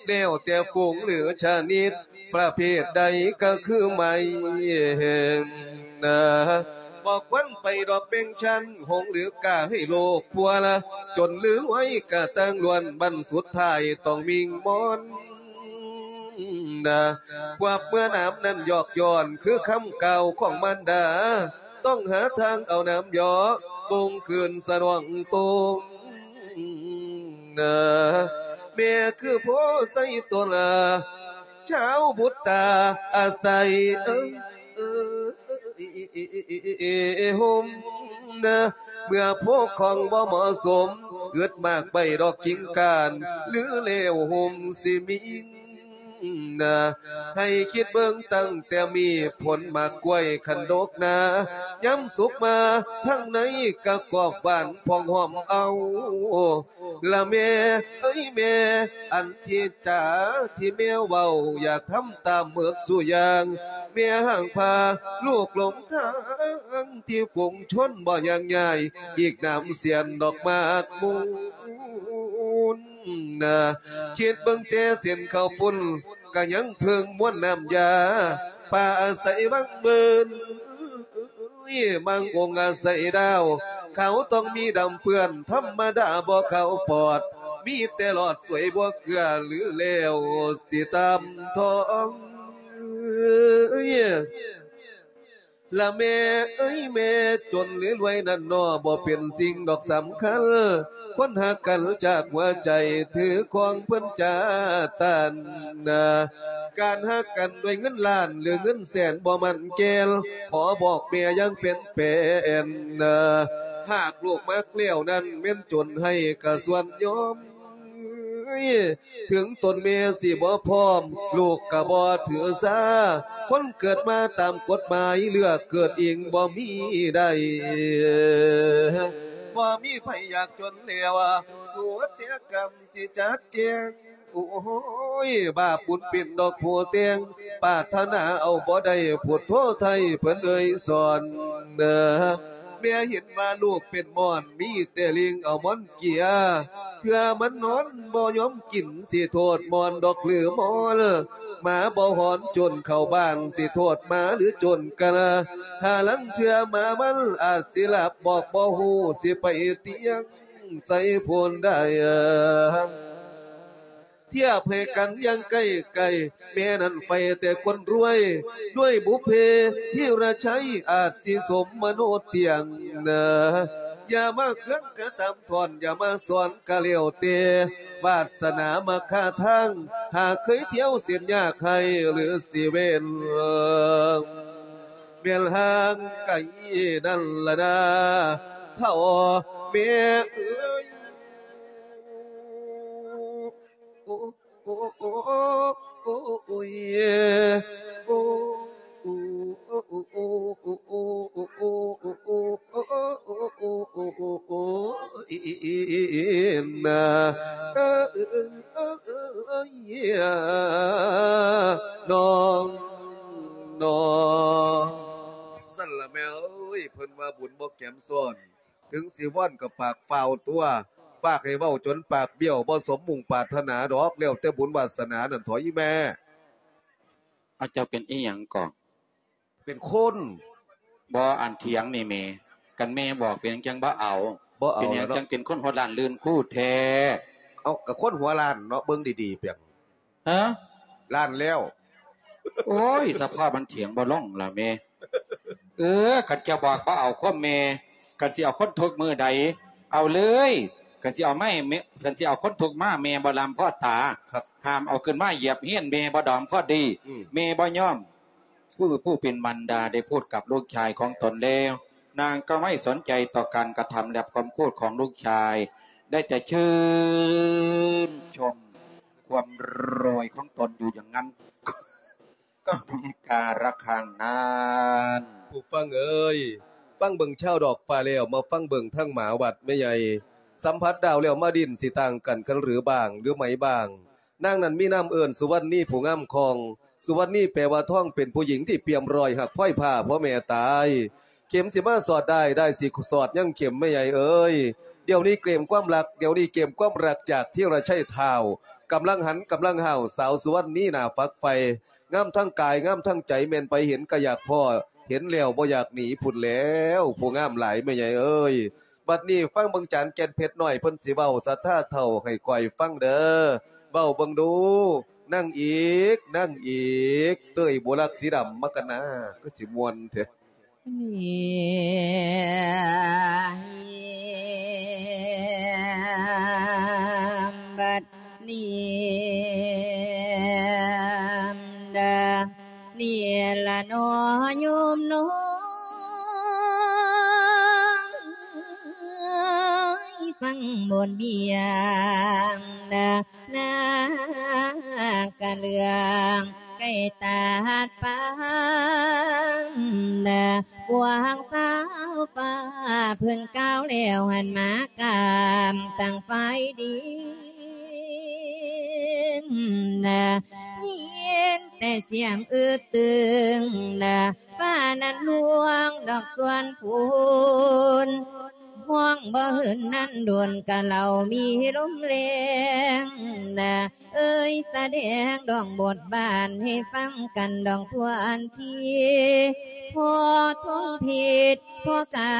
ແລ້ວແຕ່ຝູງຫຼືຊະນິດ ປະເພດໃດກໍຄືໄມ້ນະ ບໍ່ຄວນໄປດອກແບ່ງຊັ້ນ ຫົງຫຼືກາໃຫ້ໂລກພົວລະ ຈົນຫຼືລວຍກະຕ່າງລ້ວນ ບັ້ນສຸດທ້າຍຕ້ອງມິ່ງມອນນະ. ຄວາມເມື່ອນາມນັ້ນຍອກຍ້ອນ ຄືຄຳກ່າວຂອງມານດາ ຕ້ອງຫາທາງເອົານາມເຍາະ ບົ່ງຄືນສະໜອງຕົນນະ. ແມ່ຄືໂພໄຊຕົ້ນລະ ຊາວບຸດຕາອາໄສ ເອີ ຮົ່ມນະ ເມື່ອໂພຂອງບໍ່ເໝາະສົມ ອຶດໝາກໃບດອກກິ່ງກ້ານ ຫຼືແລ້ວຮົ່ມຊິມີນະ. ໃຫ້ຄິດເບິ່ງຕັ້ງແຕ່ມີຜົນໝາກກ້ວຍ ຄັນດົກໜາ ຍາມສຸກມາທາງໃນກະກອບຫວານພອງຫອມເອົາ. ລະແມ່ເອີຍແມ່ ອັນທີ່ຈາທີ່ແມ່ເວົ້າ ຢາກທຳຕາມໝົດສູ່ຢ່າງ. ແມ່ຫ້າມພາລູກຫຼົງທາງ ທີ່ຝູງຊົນບໍ່ຍ່າງຍ້າຍ ອີກໜາມສຽນດອກໝາກມູນນະ. ຄິດເບິ່ງແຕ່ເສັ້ນເຂົ້າປຸ້ນ ກະຍັງເພິ່ງມວນນ້ຳຢາ ປາອາໄສວັງເບິ່ນ ມັງອົງອາໄສດາວ ຂາວຕ້ອງມີດຳເປື້ອນ ທຳມະດາບໍ່ຂາວປອດ ມີແຕ່ຫຼອດສວຍບົວເກືອ ຫຼືແລ້ວຊິຕາມທອງ. ລະແມ່ເອີຍແມ່ ຈົນຫຼືລວຍນັ້ນໜໍ່ ບໍ່ເປັນສິ່ງດອກສຳຄັນ ຄົນຮັກກັນຈາກຫົວໃຈ ຖືຄອງເພິ່ນຈາຕັນນະ. ການຮັກກັນດ້ວຍເງິນລ້ານ ຫຼືເງິນແສນບໍ່ໝັ້ນແກ່ນ ຂໍບອກແມ່ຢ່າງເປັນແປນນະ. ຫາກລູກມັກແລ້ວນັ້ນ ແມ່ນຈົນໃຫ້ກະສ່ວນຍອມ ເຖິງຕົນແມ່ຊິບໍ່ພ້ອມ ລູກກະບໍ່ຖືສາ. ຄົນເກີດມາຕາມກົດໝາຍ ເລືອກເກີດເອງບໍ່ມີໄດ້ ບໍ່ມີໃຜຢາກຈົນແລ້ວ ສຸດແຕ່ກຳ ຊິຈັດແຈງ ໂອ້ຍ ບາບບຸນເປັນດອກຜູ້ແຕ່ງ ປາດຖະໜາເອົາບໍ່ໄດ້ ພຸດໂທໄທເພິ່ນເອີຍສອນເດີ. ແມ່ເຫັນວ່າລູກເປັນໝອນ ມີແຕ່ຫຼິ້ງເອົາໝອນເກຍ ເທື່ອມັນນອນບໍ່ຍອມກິນ ຊິໂທດໝອນດອກຫຼືໝອນ. ໝາບໍ່ຫອນຈົນເຂົ້າບ້ານ ຊິໂທດໝາຫຼືຈົນກະລາ. ຫາລາງເທື່ອໝາມັນອາດຊິຫຼັບ ບອກບໍ່ຮູ້ ຊິໄປຕຽງ ໃສ່ໂພນໄດ້ ທຽບໃຫ້ກັນຢ່າງໃກ້ໆ ແມ່ນັ້ນໃຝ່ແຕ່ຄົນລວຍ ດ້ວຍບຸບເພທີ່ລະໄຊ ອາດຊິສົມມະໂນດຕຽງນະ. ຢ່າมาເຄື່ອງກະຕຳທ່ອນ ຢ່າມາສອນກະແລ້ວແຕ່ ວາດສະໜາມັກຄາທາງ ຫາເຄີຍທ່ຽວເສັ້ນຍາກໃຫ້ຫຼືຊິເວັ້ນ ແມ່ນຫ່າງໄກນັ້ນລະນາ ພໍ່ແມ່ເອີຍ. ໂອ້ຍ ໂອ້ຍ ໂອ້ຍ ນາ ເອີຍ ນ້ອງ ນ້ອງ ຊັ້ນລະແມ່ເອີຍ ເພິ່ນວ່າບຸນບໍ່ແກມຊ້ອນ. ເຖິງຊິວອນກໍປາກຟ້າວຕົວະ ຝາກໃຫ້ເວົ້າຈົນປາກບ້ຽວ ບໍ່ສົມມຸ່ງປາດຖະໜາດອກ ແລ້ວແຕ່ບຸນວາດສະໜານັ້ນເຖາະອີ່ແມ່. ເອົາ ເຈົ້າເປັນອີ່ຫຍັງເກາະ? ເປັນຄົນ. ບໍ່ ອັນຖຽງນີ້ແມ່ ຄັນແມ່ບອກເປັນຫຍັງຈັ່ງບໍ່ເອົາ? ບໍ່ເອົາ ເປັນຫຍັງ ແລ້ວເນາະ ຈັ່ງເປັນຄົນຫົວລ້ານລື່ນຄູແທ້? ເອົາ ກໍຄົນຫົວລ້ານເນາະ ເບິ່ງດີໆ ເປັນ ຮະ? ລ້ານແລ້ວ. ໂອ້ຍ ສະພາບມັນຖຽງບໍ່ລົງລະແມ່. ເອີ ຄັນຈະບອກບໍ່ເອົາຄວາມແມ່ ຄັນຊິເອົາຄົນທຸກມື້ໃດ ເອົາເລີຍ. ຄັນຊິເອົາໄມ້ ຄັນຊິເອົາຄົນທຸກມາ ແມ່ບໍ່ລຳພໍຕາ. ຫ້າມເອົາຂຶ້ນມາຢຽບຮຽນ ແມ່ບໍ່ດອມພໍດີ. ອືມ ແມ່ບໍ່ຍອມ. ຜູ້ ຜູ້ເປັນມານດາໄດ້ພູດກັບລູກຊາຍຂອງຕົນແລ້ວ ນາງກໍໄມ່ສົນໃຈຕໍ່ການກະທຳ ແລະ ຄຳພູດຂອງລູກຊາຍ ໄດ້ແຕ່ຊື່ນຊົມຄວາມລວຍຂອງຕົນຢູ່ຢ່າງນັ້ນ ກໍມີກາລະຄັງນັ້ນ. ຜູ້ຟັງເອີຍ ຟັງເບິ່ງຊາວດອກຟ້າແລ້ວ ມາຟັງເບິ່ງທາງໝາວັດແມ່ໃຫຍ່ ສຳຜັດດາວແລ້ວມາດິນ ຊິຕ່າງກັນຄັນຫຼືບ້າງ ຫຼືໄໝບ້າງ. ນາງນັ້ນມີນາມເອີ້ນສຸວັນນີຜູ້ງາມຄອງ. ສຸວັນນີແປວ່າທອງ ເປັນຜູ້ຍິງທີ່ປ່ຽມລອຍ ຮັກພອຍຜ້າພໍ່ແມ່ຕາຍ. ເຂັມຊິມາສອດດ້າຍ ດ້າຍຊິສອດຍັງເຂັມ ແມ່ໃຫຍ່ເອີຍ. ດຽວນີ້ເກມຄວາມລັກ ດຽວນີ້ເກມຄວາມລັກຈາກທີລະໄຊທ້າວ ກຳລັງຫັນກຳລັງຫ້າວ ສາວສຸວັນນີໜ້າຝັກໃຝ່ ງາມທັງກາຍງາມທັງໃຈ ແມ່ນໃຜເຫັນກໍຢາກພໍ້ ເຫັນແລ້ວບໍ່ຢາກໜີພຸ້ນແລ້ວ ຜູ້ງາມຫຼາຍແມ່ໃຫຍ່ເອີຍ. ບັດນີ້ຟັງເບິ່ງຈານແກ່ນເພັດນ້ອຍເພິ່ນຊິເວົ້າສັດທາເຖົ້າໃຫ້ຂ້ອຍຟັງເດີ້ ເວົ້າເບິ່ງດູ ນາງເອກ ນາງເອກ ເຕີຍບຸລັກສີດຳມາກັນນາ ຄືຊິມ່ວນແທ້. ບັດນີ້ ນີ້ລະໜໍໂຍມນ້ອງ ຟັງບົດວຽງນະ ນາກະເລື່ອງໃກ້ຕາດປານນະ ພວກສາວຟ້າເພິ່ນກ່າວແລ້ວ ຫັນມາກາມຕັ້ງຝ່າຍດິນນະ ຍິນແຕ່ສຽງອຶດຕຶງນະ ຟ້ານັ້ນລວງດອກສວນພຸ້ນ ຮ້ອງບໍ່ເຫີນນັ້ນດົນກະເລົ່າມີລົມແລງນະ ເອີຍສະແດງດອກບົດບານໃຫ້ຟັງກັນດອກທວນທີ ພໍ່ທອງເພັດ ພໍ່ກາ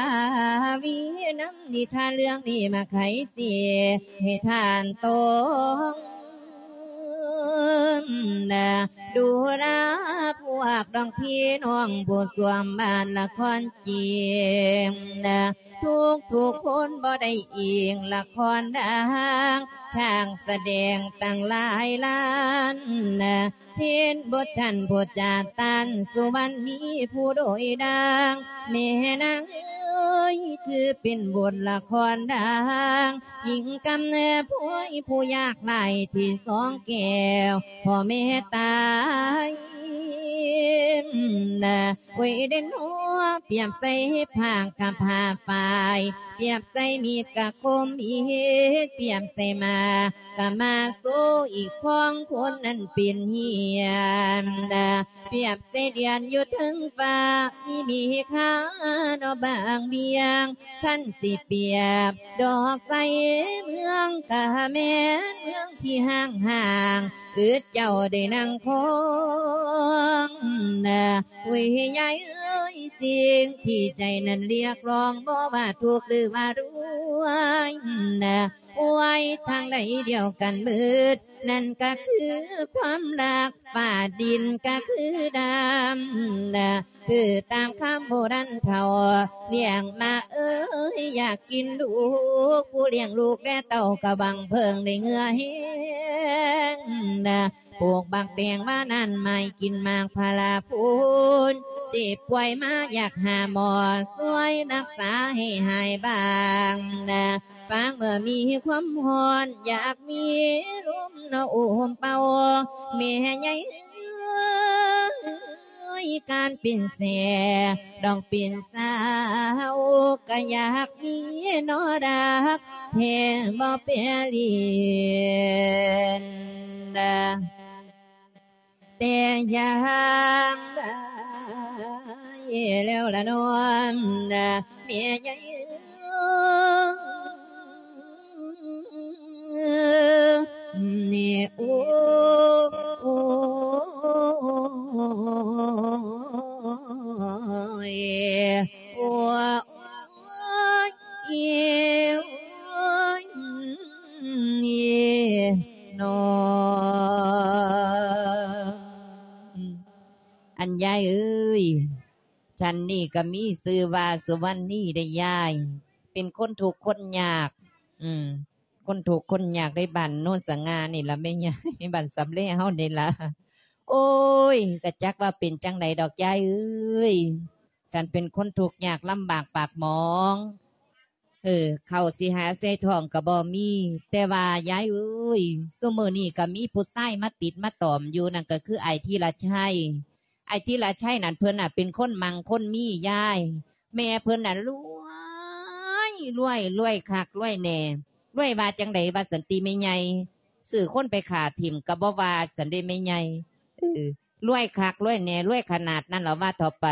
ວີນຳນິທານເລື່ອງນີ້ມາໄຂເສຍໃຫ້ທ່ານຕ້ອງນະ ດູລາພວກດອກພີ່ນ້ອງຜູ້ສວມບ້ານລະຄອນຈີນນະ ທຸກໆຄົນບໍ່ໄດ້ອີງລະຄອນດັງ ຊ່າງສະແດງຕັ້ງຫຼາຍລ້ານນະ ເຊັ່ນບົດຊັ້ນຜູ້ຈາດຕັນ ສຸວັນນີຜູ້ໂດຍດັ່ງ ແມ່ນາງເອີຍ ຄືເປັນບົດລະຄອນດັງ ຍິງກຳເນີດພວຍຜູ້ຍາກໄຮ້ທີ່ສອງແກ້ວ ພໍ່ແມ່ຕາຍນະ ໂອ້ຍເດນໂນ ປຽບໃສ່ຜ້າກະຜ້າຝ້າຍ ປຽບໃສ່ມີດກະຄົມມີດ ປຽບໃສ່ໝາກກະມາໂຊອີກຂອງຄົນນັ້ນເປັນເຫື່ອນນະ ປຽບໃສ່ດຽນຢູ່ເທິງຟ້າ ມີມີຄາເນາະບາງບຽງ ຄັນຊິປຽບດອກໄຊເມືອງກະແມ່ນເມືອງທີ່ຮ້າງໆ ອຶດເຈົ້າໄດ້ນັ່ງຄອງນະ ໂອ້ຍຍາຍເອີຍ ສິ່ງທີ່ໃຈນັ້ນລຽກຮ້ອງ ບໍ່ວ່າທຸກຫຼືວ່າລວຍນະ ໂອ້ຍ ທາງໃດດຽວກັນໝົດ ນັ້ນກໍຄືຄວາມຮັກ ຟ້າດິນກໍຄືດຳນະ ຄືຕາມຄຳໂບລານເຖົ້າ ລ້ຽງມາເອີຍ ຢາກກິນລູກ ຜູ້ລ້ຽງລູກແລເຕົ້າ ກໍຫວັງເພິ່ງໄດ້ເຫື່ອແຮງນະ ປູກບັກແຕງມານັ້ນ ໄມ້ກິນໝາກພາລາພຸ້ນ ເຈັບປ່ວຍມາຢາກຫາໝໍ ຊ່ວຍຮັກສາໃຫ້ຫາຍບາງນະ ຟັງເມື່ອມີຄວາມຮ້ອນ ຢາກມີລົມນະໂອມເປົ່າ ແມ່ໃຫຍ່ເອີຍ ການເປັນແສ ດອກເປັນສາວ ກໍຢາກມີນອດາກ ແທ້ບໍ່ແປລີນ ແຕ່ຢ່າງໃດແລ້ວລະນ້ອງນະ ແມ່ໃຫຍ່ເອີຍ ນີ້ ໂອ້ຍ ໂອ້ຍ ໂອ້ຍ ນີ້ ນ້ອງ ອັນຍາຍເອີຍ ສັນນີ້ກໍມີຊື່ວ່າສຸວັນນີເດ້ຍາຍ ເປັນຄົນທຸກຄົນຍາກ ອືມ ຄົນທຸກຄົນຍາກໃນບ້ານໂນນສະຫງ່ານີ້ລະແມ່ຍາຍ ບ້ານສຳແລເຮົານີ້ລະ ໂອ້ຍ ກະຈັກວ່າເປັນຈັ່ງໃດດອກຍາຍເອີຍ ສັນເປັນຄົນທຸກຍາກລຳບາກປາກໝອງ ເອີ ເຂົ້າຊິຫາໃສ່ທ້ອງກໍບໍ່ມີ ແຕ່ວ່າຍາຍເອີຍ ຊຸມື້ນີ້ກໍມີຜູ້ຊາຍມາຕິດມາຕອມຢູ່ ນັ້ນກໍຄືອ້າຍທີລະໄຊ ອ້າຍທີລະໄຊນັ້ນເພິ່ນນະເປັນຄົນມັ່ງຄົນມີຍາຍ ແມ່ເພິ່ນນະລວຍ ລວຍ ລວຍຄັກລວຍແນ່ ລວຍວ່າຈັ່ງໃດວ່າຊັ້ນຕິແມ່ໃຫຍ່ ຊື້ຄົນໄປຂ້າຖິ້ມກໍບໍ່ວ່າຊັ້ນເດ້ແມ່ໃຫຍ່ ເອີ ລວຍຄັກລວຍແນ່ ລວຍຂະໜາດນັ້ນລະວ່າເຖາະໄປ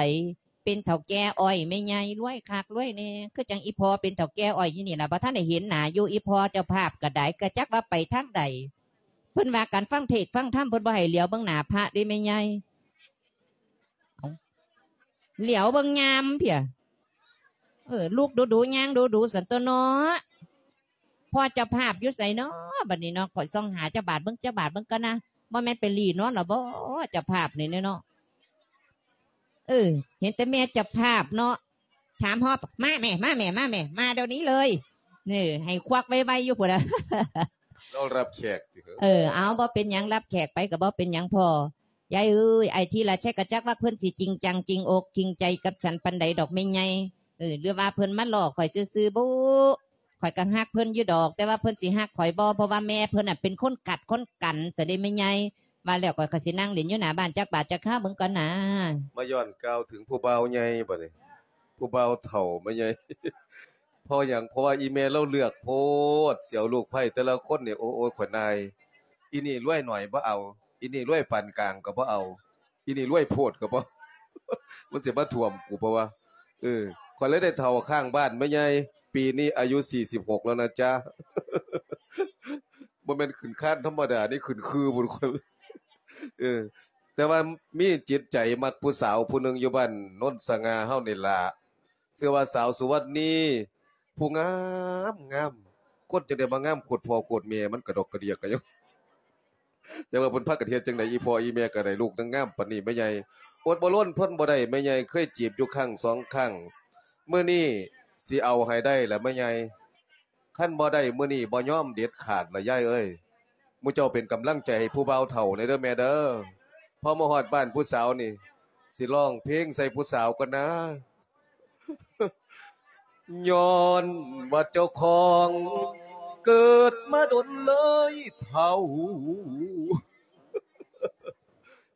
ເປັນເຖົ້າແກ່ອ້ອຍແມ່ໃຫຍ່ ລວຍຄັກລວຍແນ່ ຄືຈັ່ງອີ່ພໍ່ເປັນເຖົ້າແກ່ອ້ອຍຢູ່ນີ້ລະ ບໍ່ທັນໄດ້ເຫັນໜ້າຢູ່ ອີ່ພໍ່ເຈົ້າພາບກໍໄດ້ ກໍຈັກວ່າໄປທາງໃດ ເພິ່ນວ່າການຟັງເທດຟັງທຳ ເພິ່ນບໍ່ໃຫ້ຫຼຽວເບິ່ງໜ້າພະເດ້ແມ່ໃຫຍ່ ເອົ້າ ຫຼຽວເບິ່ງຍາມເພຍ ເອີ ລຸກດູໆ ຍ່າງດູໆ ຊັ້ນຕົວເນາະ ພໍ່ເຈົ້າພາບຢູ່ໃສເນາະ ບັດນີ້ເນາະ ຂ້ອຍສ່ອງຫາເຈົ້າບາດເບິ່ງ ເຈົ້າບາດເບິ່ງກ່ອນນະ ບໍ່ແມ່ນໄປຫຼີ່ນອນລະບໍ ເຈົ້າພາບນີ້ເນາະ ເອີ ເຫັນແຕ່ແມ່ເຈົ້າພາບເນາະ ຖາມຮອດ ມາແມ່ ມາແມ່ ມາແມ່ ມາດຽວນີ້ເລີຍ ເອີ ໃຫ້ຄວັກໄວໆ ຢູ່ພຸ້ນລະ ລາວຮັບແຂກຕິ ເອີ ເອົາ ບໍ່ເປັນຫຍັງ ຮັບແຂກໄປກໍບໍ່ເປັນຫຍັງພໍ່ ຍາຍເອີຍ ອ້າຍທີລະໄຊກໍຈັກວ່າເພິ່ນຊິຈິງຈັງຈິງອົກຈິງໃຈກັບສັນປານໃດດອກແມ່ໃຫຍ່ ເອີ ຫຼືວ່າເພິ່ນມາລໍ້ຂ້ອຍຊື່ໆ ບຸ ຂ້ອຍກໍຮັກເພິ່ນຢູ່ດອກ ແຕ່ວ່າເພິ່ນຊິຮັກຂ້ອຍບໍ່ ເພາະວ່າແມ່ເພິ່ນນະເປັນຄົນກັດຄົນກັນຊະເດ້ແມ່ໃຫຍ່ ວ່າແລ້ວຂ້ອຍກໍຊິນັ່ງຫຼິ້ນຢູ່ໜ້າບ້ານຈັກບາດຈັກຄາວເບິ່ງກ່ອນນາ ມາຍ້ອນກ່າວເຖິງຜູ້ບ່າວໃຫຍ່ບັດນີ້ ຜູ້ບ່າວເຖົ້າແມ່ໃຫຍ່ ເພາະຫຍັງ ເພາະວ່າອີ່ແມ່ລາວເລືອກໂພດ ຊິເອົາລູກໃພ້ແຕ່ລະຄົນນີ້ ໂອ້ຍ ໂອ້ຍ ຂ້ອຍນາຍ ອີ່ນີ້ລວຍໜ້ອຍບໍ່ເອົາ ອີ່ນີ້ລວຍປານກາງກໍບໍ່ເອົາ ອີ່ນີ້ລວຍໂພດກໍບໍ່ ມັນຊິມາຖ້ວມກູບໍ່ວະ ເອີ ຂ້ອຍເລີຍໄດ້ເຖົ້າຂ້າງບ້ານແມ່ໃຫຍ່ ປີນີ້ອາຍຸສີ່ສິບຫົກແລ້ວນະຈ໊ະ ບໍ່ແມ່ນຂຶ້ນຄານທຳມະດາເດ້ ຂຶ້ນຄືພຸ້ນ ເອີ ແຕ່ວ່າມີຈິດໃຈມັກຜູ້ສາວຜູ້ໜຶ່ງຢູ່ບ້ານໂນນສະຫງ່າເຮົານີ້ລະ ຊື່ວ່າສາວສຸວັນນີ ຜູ້ງາມງາມ ຄົນຈັ່ງໃດມາງາມໂຄດພໍ່ໂຄດແມ່ ມັນກະດອກກະເດຍກະຫຍັງ ຈັກວ່າເພິ່ນພາກັນເຮັດຈັ່ງໃດ ອີ່ພໍ່ອີ່ແມ່ກໍໄດ້ລູກນາງງາມປານນີ້ແມ່ໃຫຍ່ ອົດບໍ່ລົນທົນບໍ່ໄດ້ແມ່ໃຫຍ່ ເຄີຍຈີບຢູ່ຄັ້ງສອງຄັ້ງ ມື້ນີ້ຊິເອົາໃຫ້ໄດ້ລະແມ່ໃຫຍ່ ຄັນບໍ່ໄດ້ມື້ນີ້ບໍ່ຍອມເດັດຂາດລະຍາຍເອີຍ ໝູ່ເຈົ້າເປັນກຳລັງໃຈໃຫ້ຜູ້ບ່າວເຖົ້າແດ່ເດີແມ່ເດີ ພໍມາຮອດບ້ານຜູ້ສາວນີ້ ຊິຮ້ອງເພງໃສ່ຜູ້ສາວກ່ອນນາ. ຍ້ອນວ່າເຈົ້າຂອງເກີດມາດົນເລີຍເຖົ້າ.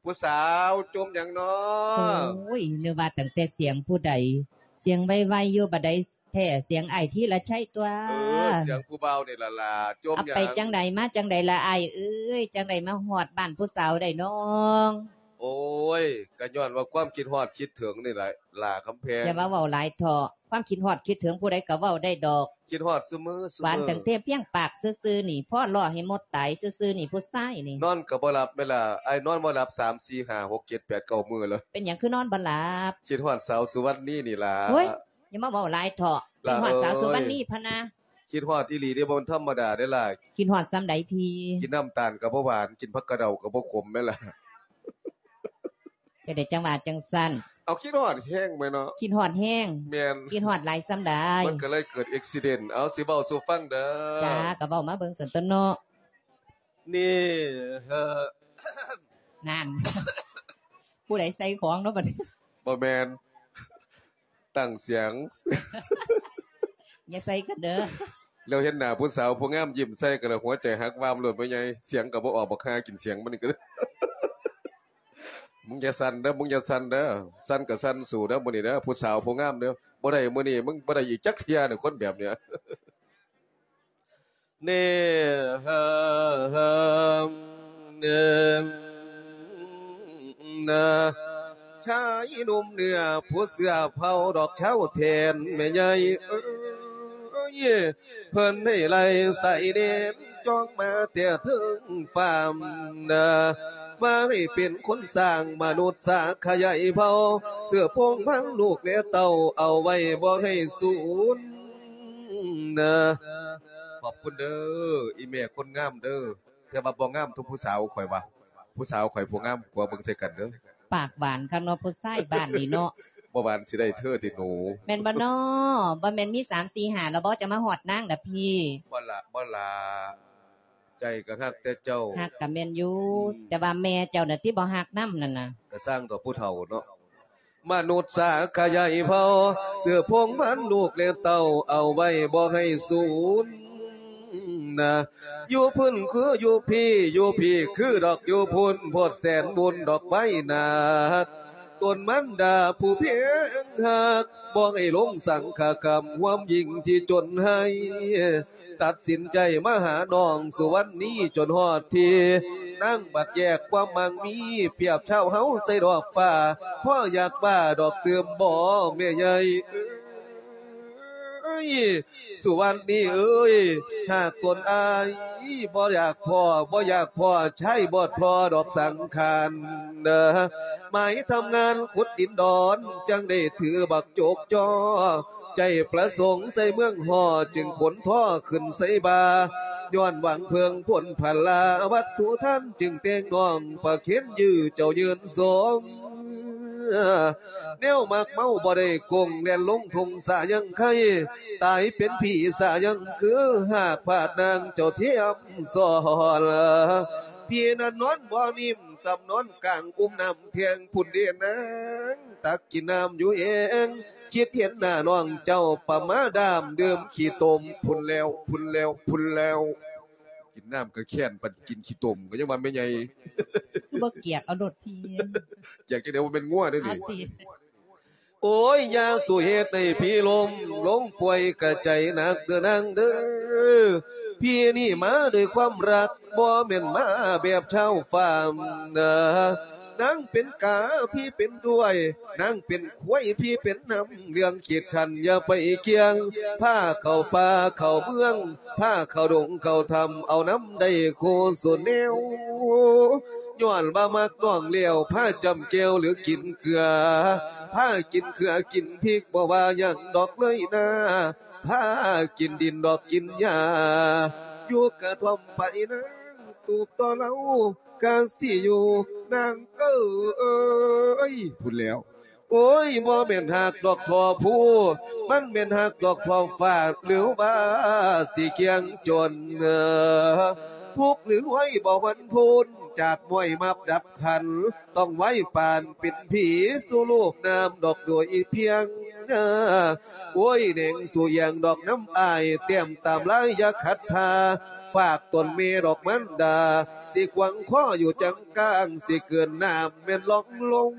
ຜູ້ສາວຈົ່ມຫຍັງນໍ? ໂອ້ຍ ນຶກວ່າຕັ້ງແຕ່ສຽງຜູ້ໃດ ສຽງໄວໆຢູ່ ບັດໃດແທ້ສຽງອ້າຍທີລະໄຊຕົວະ. ເອີ ສຽງຜູ້ບ່າວນີ້ລະຫຼ້າ. ຈົ່ມຫຍັງ? ໄປຈັ່ງໃດມາຈັ່ງໃດລະອ້າຍເອີຍ? ຈັ່ງໃດມາຮອດບ້ານຜູ້ສາວໄດ້ນ້ອງ? ໂອ້ຍ ກະຍ້ອນວ່າຄວາມຄິດຮອດຄິດເຖິງນີ້ລະຫຼ້າຄຳແພງ. ຢ່າມາເວົ້າຫຼາຍເຖາະ ຄວາມຄິດຮອດຄິດເຖິງຜູ້ໃດກະເວົ້າໄດ້ດອກ. ຄິດຮອດຊຸມື້ ຊຸມື້ ຫວານຕັ້ງແຕ່ພຽງປາກຊື່ໆນີ້ ພໍລໍ້ໃຫ້ມົດຕາຍຊື່ໆນີ້ ຜູ້ຊາຍນີ້. ນອນກະບໍ່ຫຼັບແມ່ນລະ ອ້າຍນອນບໍ່ຫຼັບສາມ ສີ່ ຫ້າ ຫົກ ເຈັດ ແປດ ເກົ້າມື້ລະ. ເປັນຫຍັງຄືນອນບໍ່ຫຼັບ? ຄິດຮອດສາວສຸວັນນີນີ້ລະ. ໂອ້ຍ ຢ່າມາເວົ້າຫຼາຍເຖາະ ຄິດຮອດສາວສຸວັນນີພະນາ. ຄິດຮອດອີ່ຫຼີເດ້ ບໍ່ແມ່ນທຳມະດາເດ້ລະ. ຄິດຮອດສ່ຳໃດພີ່? ກິນນ້ຳຕານກໍບໍ່ຫວານ ກິນຜັກກະເດົາກໍບໍ່ຂົມແມ່ນລະ. ຈະໄດ້ຈັ່ງວ່າຈັ່ງຊັ້ນ. ເອົາ ຄິດຮອດແຮງແມ່ນເນາະ. ຄິດຮອດແຮງ. ແມ່ນ. ຄິດຮອດຫຼາຍສ່ຳໃດ? ມັນກໍເລີຍເກີດເອັກຊີເດັນ. ເອົາ ຊິເວົ້າສູ່ຟັງເດີ. ຈ້າ ກໍເວົ້າມາເບິ່ງຊັ້ນຕົວະເນາະ. ນີ້ ເອີ ນັ້ນ ຜູ້ໃດໃສ່ຂອງເນາະບັດນີ້? ບໍ່ແມ່ນ ຕັ້ງສຽງ ຢ່າໃສ່ກັນເດີ. ແລ້ວເຫັນໜ້າຜູ້ສາວຜູ້ງາມຍິ້ມໃສ່ກັນແລ້ວ ຫົວໃຈຫັກວາບໂລດ ພໍ່ໃຫຍ່ ສຽງກໍບໍ່ອອກ ບັກຫ່າກິນສຽງມັນນີ້ກໍ ມຶງຢ່າສັ່ນເດີ ມຶງຢ່າສັ່ນເດີ ສັ່ນກໍສັ່ນສູ້ເດີ ມື້ນີ້ເດີ ຜູ້ສາວຜູ້ງາມເດີ ບໍ່ໄດ້ມື້ນີ້ ມຶງບໍ່ໄດ້ອີກຈັກເທື່ອເດີ ຄົນແບບເນີ້ຍ. ເນ ເອີ ເອີ ເອີ ນາ ຊາຍໜຸ່ມເໜືອຜູ້ເສື້ອເຜົ່າດອກເຊົາແທນແມ່ໃຫຍ່ເອີຍ ເພິ່ນໃຫ້ໄລ່ສາຍແດນຈອກມາແຕ່ເທິງຟ້ານາ ມາໃຫ້ເປັນຄົນສ້າງມະນຸດສາຂະຫຍາຍເຜົ່າ ເສື້ອພວງພັນລູກແລະເຕົ້າ ເອົາໄວ້ບໍ່ໃຫ້ສູນນາ. ຂອບຄຸນເດີ ອີແມ່ຄົນງາມເດີ ແຕ່ວ່າບໍ່ງາມເທົ່າຜູ້ສາວຂ້ອຍວ່າ ຜູ້ສາວຂ້ອຍຜູ້ງາມກວ່າ ເບິ່ງໃສ່ກັນເດີ. ປາກຫວານຄັກເນາະ ຜູ້ຊາຍບ້ານນີ້ເນາະ. ບໍ່ຫວານຊິໄດ້ເທີຕິໜູ? ແມ່ນບໍ່ນໍ? ບໍ່ແມ່ນມີສາມ ສີ່ ຫ້າແລ້ວບໍ່ ຈະມາຮອດນາງນະພີ່? ບໍ່ລະ ບໍ່ລະ ໃຈກໍຮັກແຕ່ເຈົ້າ. ຮັກກໍແມ່ນຢູ່ ອືມ ແຕ່ວ່າແມ່ເຈົ້ານະຕິບໍ່ຮັກນຳນັ້ນນະ. ກໍຊ່າງເຖາະ ຜູ້ເຖົ້າເນາະ. ມະນຸດສາຂະຫຍາຍເຜົ່າ ເສື້ອພວງພັນລູກແລະເຕົ້າ ເອົາໄວ້ບໍ່ໃຫ້ສູນນາ. ຢູ່ພຸ້ນຄືຢູ່ພີ້ ຢູ່ພີ້ຄືດອກຢູ່ພຸ້ນ ໂພດແສນບຸນດອກໄວ້ໜາດ ຕົນມານດາຜູ້ເພງຮັກ ບໍ່ໃຫ້ຫຼົງສັງຂະກຳ ຮ່ວມຍິ່ງທີ່ຈົນໃຫ້ ຕັດສິນໃຈມາຫານ້ອງສຸວັນນີຈົນຮອດທີ່ ນາງບັດແຍກຄວາມໝັ້ງມີ ປຽບເທົ່າເຮົາໃສ່ດອກຟ້າ ພໍຢາກວ່າດອກຕື່ມບໍ່ແມ່ໃຫຍ່ເອີຍ. ສຸວັນນີເອີຍ ຫາກຕົນອ້າຍບໍ່ຢາກພໍ້ ບໍ່ຢາກພໍ້ຊາຍບໍ່ທໍ້ດອກສັງຂານເດີ ໝາຍທຳງານຂຸດດິນດອນ ຈັ່ງໄດ້ຖືບັກ ໂຈກຈໍ້ ໃຈປະສົງໃສ່ເມືອງຫໍ່ ຈຶ່ງຂົນທໍ່ຂຶ້ນໃສ່ບ່າ ຍ້ອນຫວັງເພິ່ງພົ້ນພາລາ ວັດຖຸທານຈຶ່ງແຕ່ງນ້ອງ ປະເຄັນຢື້ເຈົ້າຍືນສົງ ແນວມັກເມົາບໍ່ໄດ້ກົງ ແລ່ນລົງທົ່ງສາຍັງໄຄ ຕາຍເປັນຜີສາຍັງຄື ຫາກພາດນາງເຈົ້າທຽມສອນ ພີ່ນັ້ນນອນບໍ່ນິ້ມ ສ່ຳນອນກາງອຸ້ມນ້ຳແທງພຸ້ນເດນາງ ຕັກກິນນ້ຳຢູ່ເອງ ຄິດເຫັນໜ້ານ້ອງເຈົ້າປະມາດາມ ດື່ມຂີ້ຕົມພຸ້ນແລ້ວ ພຸ້ນແລ້ວ ພຸ້ນແລ້ວ. ກິນນ້ຳກໍແຄ້ນ ປານກິນຂີ້ຕົມກໍຍັງວ່າແມ່ໃຫຍ່ ຄືບໍ່ກຽກເອົາໂລດພີ່ ກຽກຈັ່ງໃດ ບໍ່ແມ່ນງົວເດ້ນີ້. ເອົາຕິ ໂອ້ຍ ຢ່າສູ່ເຮັດໃຫ້ພີ່ລົ້ມລົງປ່ວຍກະໃຈໜັກເດີນາງເດີ ພີ່ນີ້ມາດ້ວຍຄວາມຮັກ ບໍ່ແມ່ນມາແບບຊາວຟາມນາ ນາງເປັນກາ ພີ່ເປັນດ້ວຍ ນາງເປັນຄວາຍ ພີ່ເປັນນ້ຳ ເລື່ອງຂີດຂັນຢ່າໄປກ່ຽງ ພາເຂົ້າປ່າເຂົ້າເມືອງ ພາເຂົ້າດົງເຂົ້າຖ້ຳ ເອົານຳໄດ້ຄູ່ສູ່ແນວ ຍ້ອນວ່າມັກນ້ອງແລ້ວ ພາຈ້ຳແຈ່ວຫຼືກິນເກືອ ພາກິນເກືອກິນພິກ ບໍ່ວ່າຫຍັງດອກເລີຍນາ ພາກິນດິນດອກກິນຫຍ້າ ຢູ່ກະທ່ອມໄປນາງ ຕູບຕໍ່ເລົ່າກະຊິຢູ່ນາງເອີຍ ພຸ້ນແລ້ວ. ໂອ້ຍ ບໍ່ແມ່ນຮັກດອກທົ່ວພູ ມັນແມ່ນຮັກດອກທົ່ວຟ້າ ຫຼືວ່າຊິກຽງຈົນ ທຸກຫຼືລວຍບໍ່ຫວັ່ນພົ້ນ ຈາກມ້ອຍມັບດັບຂັນ ຕ້ອງໄວປານເປັນຜີສູ່ລູກນ້ຳດອກໂດຍພຽງ ໂອ້ຍ ແໜງສູ່ຢ່າງດອກນ້ຳອ້າຍ ແຕ້ມຕາມລາຍຢ່າຂັດທ່າ ຝາກຕົນແມ່ດອກມານດາ ຊິຂວາງຄໍຢູ່ຈັງກາງ ຊິເກີນນ້ຳແມ່ນລ່ອງລົງ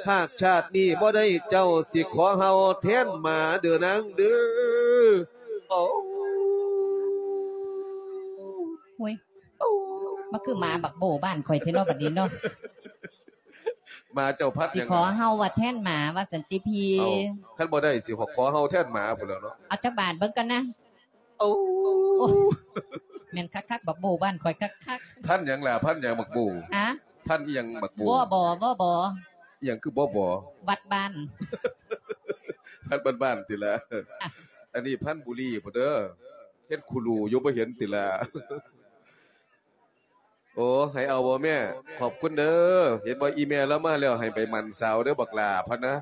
ຫາກຊາດນີ້ບໍ່ໄດ້ເຈົ້າ ຊິຂໍເຫົ່າແທນໝາເດີນາງເດີ. ໂອ້ ໂອ້ຍ ມາຄືໝາບັກໂບ້ບ້ານຂ້ອຍແທ້ເນາະ ບັດນີ້ເນາະ. ໝາເຈົ້າພັນຫຍັງ ຊິຂໍເຫົ່າວ່າແທນໝາວ່າຊັ້ນຕິພີ່. ເອົ້າ ຄັນບໍ່ໄດ້ຊິຂໍເຫົ່າແທນໝາພຸ້ນແຫຼ້ວເນາະ. ເອົາຈັກບາດເບິ່ງກ່ອນນະ. ໂອ້ ໂອ້ ແມ່ນຄັກໆ ບັກໂບ້ບ້ານຂ້ອຍຄັກໆ. ພັນຫຍັງລະ ພັນຫຍັງບັກໂບ້? ຮະ? ພັນອີ່ຫຍັງບັກໂບ້? ບໍ່ບໍ່ບໍ່ບໍ່. ອີ່ຫຍັງຄືບໍ່ບໍ່? ວັດບ້ານ. ພັນບ້ານໆ ຕິລະ. ອັນນີ້ພັນບຸຣີພຸ້ນເດີ ເຮັດຄູລູຢູ່ ບໍ່ເຫັນຕິລະ? ໂອ້ ໃຫ້ເອົາບໍ່ແມ່? ຂອບຄຸນເດີ. ເຫັນບໍ່ ອີ່ແມ່ລາວມາແລ້ວ ໃຫ້ໄປໝັ້ນສາວເດີບັກຫຼ້າ ພະນະ.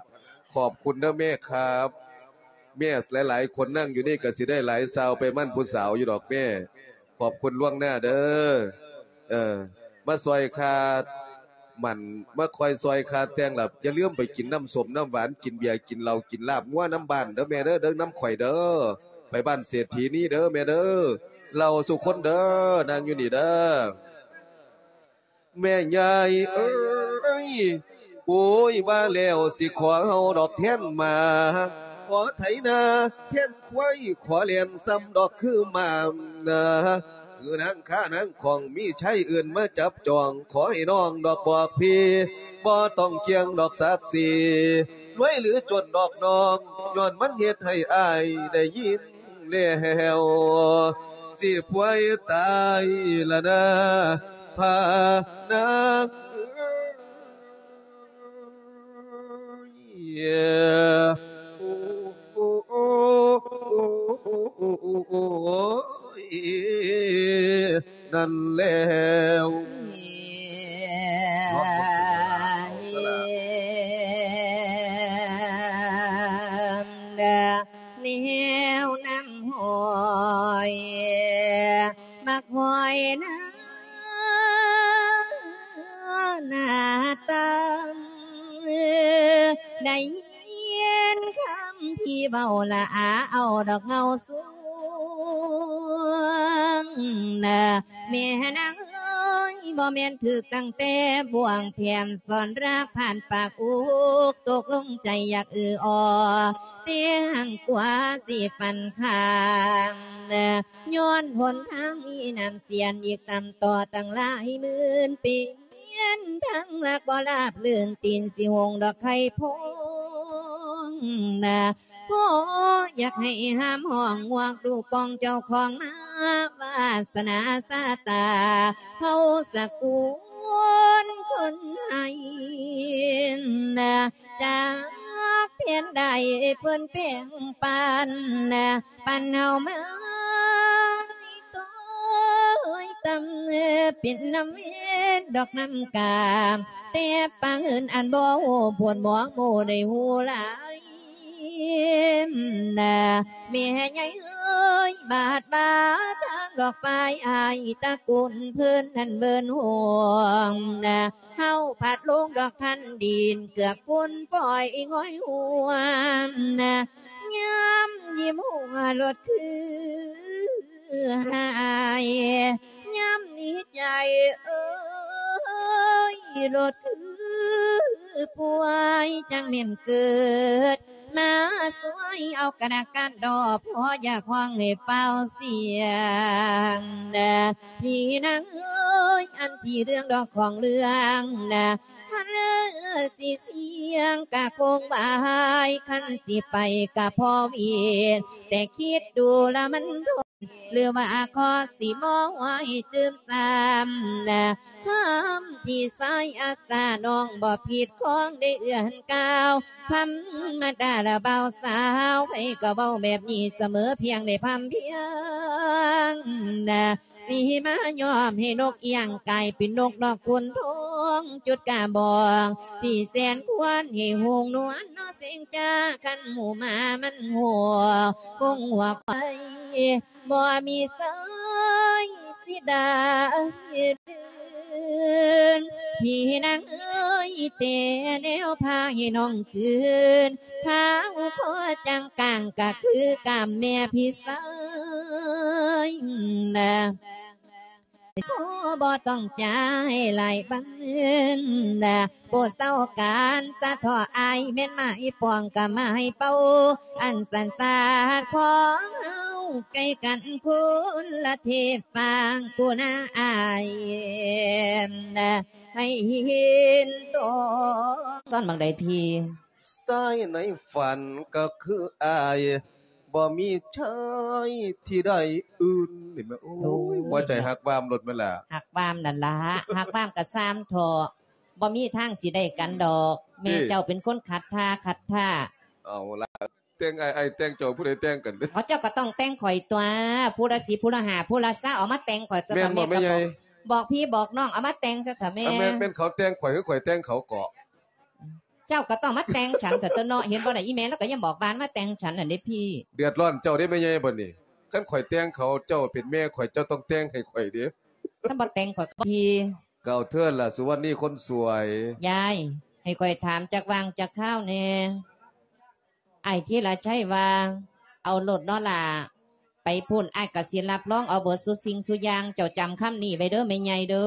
ຂອບຄຸນເດີແມ່ຄັບ. ແມ່ຫຼາຍໆຄົນນັ່ງຢູ່ນີ້ ກະຊິໄດ້ຫຼາຍຊາວໄປໝັ້ນຜູ້ສາວຢູ່ດອກແມ່. ຂອບຄຸນລ່ວງໜ້າເດີ. ເອີ ມາຊ່ອຍຄ່າໝັ້ນ ມາຄອຍຊ່ອຍຄ່າແຕ່ງລະ ຢ່າລືມໄປກິນນ້ຳສົ້ມນ້ຳຫວານ ກິນເບຍ ກິນເຫຼົ້າ ກິນລາບງົວນຳບ້ານເດີແມ່ເດີ ເດີນຳຂ້ອຍເດີ. ໄປບ້ານເສດຖີນີ້ເດີແມ່ເດີ. ເລົ່າສູ່ຄົນເດີ ນັ່ງຢູ່ນີ້ເດີ. ແມ່ຍາຍເອີຍ ໂອ້ຍ ວ່າແລ້ວຊິຂໍເອົາດອກແທນໝາ ຂໍໄຖນາແທນຄວາຍ ຂໍແລ່ນສ່ຳດອກຄືໝານາ ຄືນາງຄ້ານາງຂອງ ມີໄຊເອີ້ນມາຈັບຈອງ ຂໍໃຫ້ນ້ອງດອກບອກພີ່ ບໍ່ຕ້ອງກ່ຽງດອກສັກສີ ລວຍຫຼືຈົນດອກນ້ອງ ຍ້ອນມັນເຮັດໃຫ້ອ້າຍໄດ້ຍິນ ແລ້ວ ຊິປ່ວຍຕາຍລະນາ ພານາງ ນັ້ນແລ້ວ. ແນວນ້ຳຫ້ອຍ ໝາກຫອຍໜ້າ ໜ້າຕາ ໄດ້ຍິນຄຳທີ່ເວົ້າລະອາ ເອົາດອກເງົາສວງ ນະ ແມ່ນາງເອີຍ ບໍ່ແມ່ນຖືກຕັ້ງແຕ່ບ່ວງ ແຖມສອນລາກຜ່ານປາກອຸກ ຕົກລົງໃຈຢາກອືອອໍ ແຕ່ຫາກວ່າຊິຝັນຂ້າງ ນະ ຍ້ອນຫົນທາງມີນ້ຳເສຍນ ອີກຕ່ຳຕໍ່ຕັ້ງຫຼາຍໝື່ນປີ ທາງລັກບໍ່ລາບລື່ນ ຕີນຊິຫົງດອກໄຂ່ພອງ ນະ ພໍຢາກໃຫ້ຫາມຫ້ອງງວກ ລູກກອງເຈົ້າຂອງມາ ວາສະໜາຊາຕາ ເຜົ່າສະກຸນຄົນໃຫ້ ນະ ຈັກແຜນໃດເພິ່ນແບ່ງປັນ ນະ ປັນເຮົາມາ ໂຕຍຕ່ຳ ເປັນນ້ຳເວັນດອກນ້ຳກາມ ແຕ່ປາງອື່ນອັນບໍ່ຮູ້ ໂພດໝອງໝູ່ໄດ້ຮູ້ຫຼາຍ ນະ ແມ່ໃຫຍ່ເອີຍ ບາດບາທາງດອກຝ້າຍ ອ້າຍຕະກຸນເພິ່ນນັ້ນເບິ່ນຫ່ວງ ນະ ເຮົາພັດລົງດອກທັນດິນ ເກືອກຝຸ່ນຝອຍງ່ອຍຫົວ ນະ ຍາມຍິ້ມຫົວໂລດຄືຫາຍ ຍາມດີໃຈເອີຍໂລດຄືປ່ວຍ ຈັ່ງແມ່ນເກີດມາຊ່ວຍເອົາກະນະການດອກ ພໍຢາກຮ້ອງໃຫ້ຟ້າວສຽງ ພີ່ນາງເອີຍ ອັນທີ່ເລື່ອງດອກຂອງເລື່ອງນະ ຄັນເລີຊິສຽງກະຄົງວາຍ ຄັນຊິໄປກະພໍວຽນ ແຕ່ຄິດດູລະມັນທົນ ຫຼືວ່າຂໍຊິມອງໄວ້ຕື່ມຊ້ຳນະ ຄຳທີ່ສາຍອາສາ ນ້ອງບໍ່ຜິດຂອງໄດ້ເອື້ອນກ່າວ ທຳມະດາລະບ່າວສາວ ໃຜກໍເວົ້າແບບນີ້ສະເໝີ ພຽງໄດ້ພ່ຳພຽງນະ ຊິມາຍອມໃຫ້ນົກອຽງກາຍເປັນນົກນອກຂຸນທອງ ຈຸດກະບອງທີ່ແສນຄວນໃຫ້ຫົງນວນເນາະເສັງຈ້າ ຄັນໝູ່ໝາມັນຫົວ ຄົງຫົວໄປ ບໍ່ມີສາຍຊິດາຍເດີນ ພີ່ນາງເອີຍ ແຕ່ແນວພາໃຫ້ນ້ອງຄືນ ພາວຄໍຈັ່ງກາງກະຄືກາມແມ່ພີ່ຊາຍນະ ຂໍບໍ່ຕ້ອງຈ່າຍຫຼາຍບັນນະ ໂປດເຊົາການສະເທາະອາຍ ແມ່ນໝາຍປອງກະໝາຍເປົ້າ ອັນສັນສາດຂອງເຮົາໃກ້ກັນຄົນລະເທບຟາງ ຜູ້ນາອາຍນະ ໃຫ້ເຫັນຕອງ ຕອນບັກໃດພີ່? ຊາຍໃນຝັນກໍຄືອາຍ ບໍ່ມີຊາຍທີ່ໃດອື່ນ ເຫັນບໍ່? ໂອ້ຍ ໂອ້ຍ ຫົວໃຈຮັກວາມໂລດແມ່ນລະ ຮັກວາມນັ້ນລະ ຮັກວາມກໍຊາມເທາະ ບໍ່ມີທາງຊິໄດ້ກັນດອກ ແມ່ເຈົ້າເປັນຄົນຂັດທ່າ ຂັດທ່າ ເອົາລະ ແຕ່ງອ້າຍ ອ້າຍແຕ່ງເຈົ້າ ຜູ້ໃດແຕ່ງກັນເດ້? ເອົາ ເຈົ້າກໍຕ້ອງແຕ່ງຂ້ອຍຕົວະ ຜູ້ລະສິບ ຜູ້ລະຫ້າ ຜູ້ລະຊາວ ເອົາມາແຕ່ງຂ້ອຍຊະ ແມ່ນບໍ່ ແມ່ໃຫຍ່? ບອກພີ່ບອກນ້ອງ ເອົາມາແຕ່ງຊະເຖາະແມ່. ເອົາ ແມ່ນ ແມ່ນເຂົາແຕ່ງຂ້ອຍ ຄືຂ້ອຍແຕ່ງເຂົາເກາະ? ເຈົ້າກໍຕ້ອງມາແຕ່ງສັນຊະຕົວະເນາະ ເຫັນບໍ່ນະ ອີ່ແມ່ລາວກໍຍັງບອກວ່າມາແຕ່ງສັນຫັ້ນເດ້ພີ່. ເດືອດຮ້ອນເຈົ້າເດ້ແມ່ໃຫຍ່ບັດນີ້ ຄັນຂ້ອຍແຕ່ງເຂົາ ເຈົ້າເປັນແມ່ຂ້ອຍ ເຈົ້າຕ້ອງແຕ່ງໃຫ້ຂ້ອຍເດ້. ຄັນບໍ່ແຕ່ງຂ້ອຍກໍບໍ່ ພີ່. ກ່າວເທີ້ນລະສຸວັນນີຄົນສວຍ. ຍາຍ ໃຫ້ຂ້ອຍຖາມຈັກຫວ່າງຈັກຄາວແດ່. ອ້າຍທີລະໄຊວ່າ ເອົາໂລດເນາະຫຼ້າ ໄປພຸ້ນອ້າຍກໍຊິຮັບຮອງເອົາເບິດຊຸສິ່ງຊຸຢ່າງ ເຈົ້າຈຳຄຳນີ້ໄວ້ເດີແມ່ໃຫຍ່ເດີ.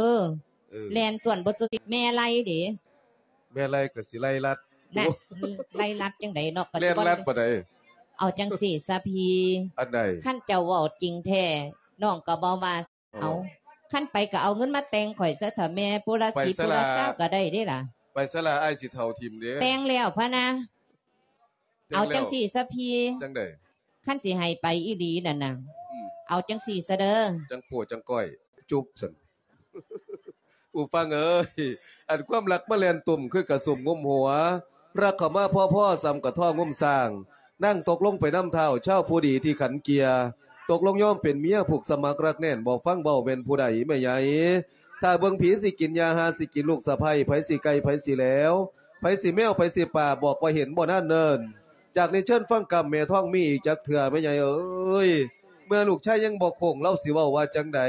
ເອີ ແລ່ນສວນເບິດຊຸສິ່ງ ແມ່ໄລ່ເດ. ແມ່ໄລ່ກໍຊິໄລ່ລັດ. ນະ ໂອ້ ໄລ່ລັດຈັ່ງໃດເນາະ ກໍຊິ ແລ່ນລັດປານໃດ? ເອົາຈັ່ງຊີ້ຊະພີ່ ອັນໃດ? ຄັນເຈົ້າເວົ້າຈິງແທ້ ນ້ອງກໍບໍ່ວ່າ. ເອົາ ຄັນໄປກໍເອົາເງິນມາແຕ່ງຂ້ອຍຊະເຖາະແມ່ ຜູ້ລະສິບ ຜູ້ລະຊາວກໍໄດ້ເດ້ລະ. ໄປຊະລະ ອ້າຍຊິເຖົ້າຖິ້ມເດ້. ແຕ່ງແລ້ວພະນະ. ແຕ່ງແລ້ວ. ເອົາຈັ່ງຊີ້ຊະພີ່ ຈັ່ງໃດ? ຄັນຊິໃຫ້ໄປອີ່ຫຼີນັ້ນນະ ອືມ ເອົາຈັ່ງຊີ້ຊະເດີ ຈັ່ງໂປ້ຈັ່ງກ້ອຍ ຈຸບຊັ້ນ. ຜູ້ຟັງເອີຍ ອັນຄວາມລັກມາແລ່ນຕຸ່ມ ຄືກະສຸມງຸມຫົວ ລັກເຂົ້າມາພໍໆ ສ່ຳກະທ້ອງງຸມຊ້າງ ນາງຕົກລົງໄປນຳທ້າວ ຊາວຜູ້ດີທີ່ຂັນເກຍ ຕົກລົງຍອມເປັນເມຍ ຜູກສະໝັກລັກແໜ້ນ ບໍ່ຟັງເວົ້າແມ່ນຜູ້ໃດແມ່ໃຫຍ່? ຖ້າເບິ່ງຜີຊິກິນຫຍ້າ ຫາຊິກິນລູກສະໃພ້ ໃຜຊິໄກ່ ໃຜຊິແຫຼວ ໃຜຊິແມວ ໃຜຊິປາ ບອກວ່າເຫັນບໍ່ນານເນີນ. ຈາກນີ້ເຊີນຟັງກຳແມ່ທອງມີອີກຈັກເທື່ອແມ່ໃຫຍ່ເອີຍ. ເມື່ອລູກຊາຍຍັງບໍ່ໂຄ້ງ ລາວຊິເວົ້າວ່າຈັ່ງໃດ?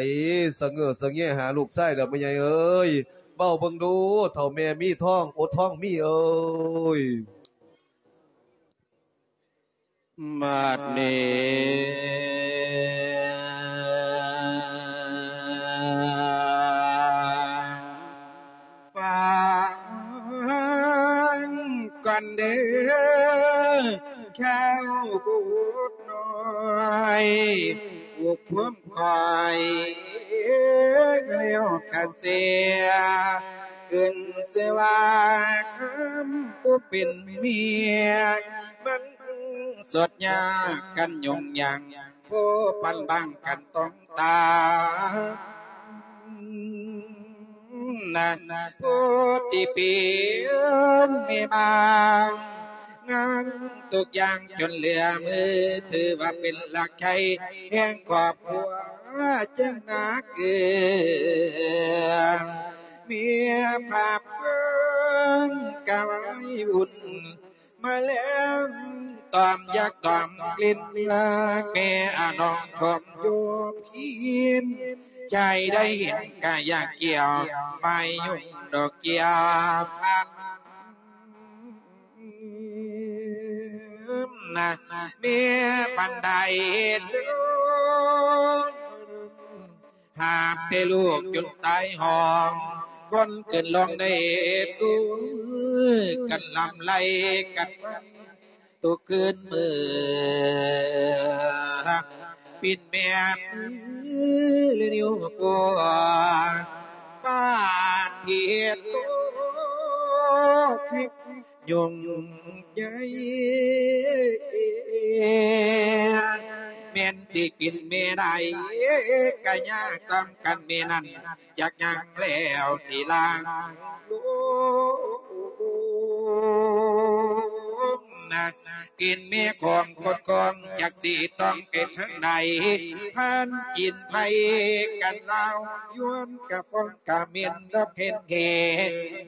ສະເຫງີສະແງຫາລູກຊາຍແລ້ວແມ່ໃຫຍ່ເອີຍ ເວົ້າເບິ່ງດູ ເຖົ້າແມ່ມີທອງ ໂອ ທອງມີເອີຍ. ບັດນີ້ ຟັງກ່ອນເດີ ແຂ້ວບຸດນ້ອຍ ຜູ້ຄວາມຂ້ອຍ ແລ້ວກະເສຍ ຂຶ້ນຊື່ວ່າ ຄຳຜູ້ເປັນເມຍ ມັນ ສົດຍາກັນຫຍຸ້ງຫຍັງ ຜູ້ປັນບັງກັນຕ້ອງຕາມນະ ຜູ້ທີ່ເປັນແມ່ບ້ານ ງານທຸກຢ່າງຈົນເຫຼືອມື ຖືວ່າເປັນຫຼັກໃຈແຫ່ງຄອບຄົວ ຈຶ່ງໜ້າເກືອ ເມຍພາບເບິ່ງກະໄວ້ວຸ່ນ ມາແລ້ວຕອມຢາກຕອມກິ່ນລາ ແມ່ອານ້ອງທອມຢູ່ພີນ ໃຈໄດ້ເຫັນກະຢາກກ່ຽວ ໄມ້ຍຸງດອກເກີ້ຍພັນນະ ແມ່ບັນໄດໂລ ຫາບແຕ່ລູກຈົນຕາຍຫ້ອງ ຄົນຂຶ້ນລົງໄດ້ຕຸ້ມກັນລຳໄລກັນມາ ທຸກຄືນມື້ ປິ່ນແມ່ນຫຼືນິ້ວໂປ້ ປານເຮັດໂຕ ຍຸງໃຫຍ່ ແມ່ນຊິກິນແມ່ໄດ້ ກະຍາກສ່ຳກັນແມ່ນັ້ນ ຈັກຍັງແລ້ວຊິລາງລົງນະ ກິນແມ່ຂອງກົດກອງ ຈັກຊິຕ້ອງໄປທາງໃດ ພັນກິນໄຜກັນລາວ ຍວນກະປ້ອງ ກະເໝັນດອກເຫັນແທ້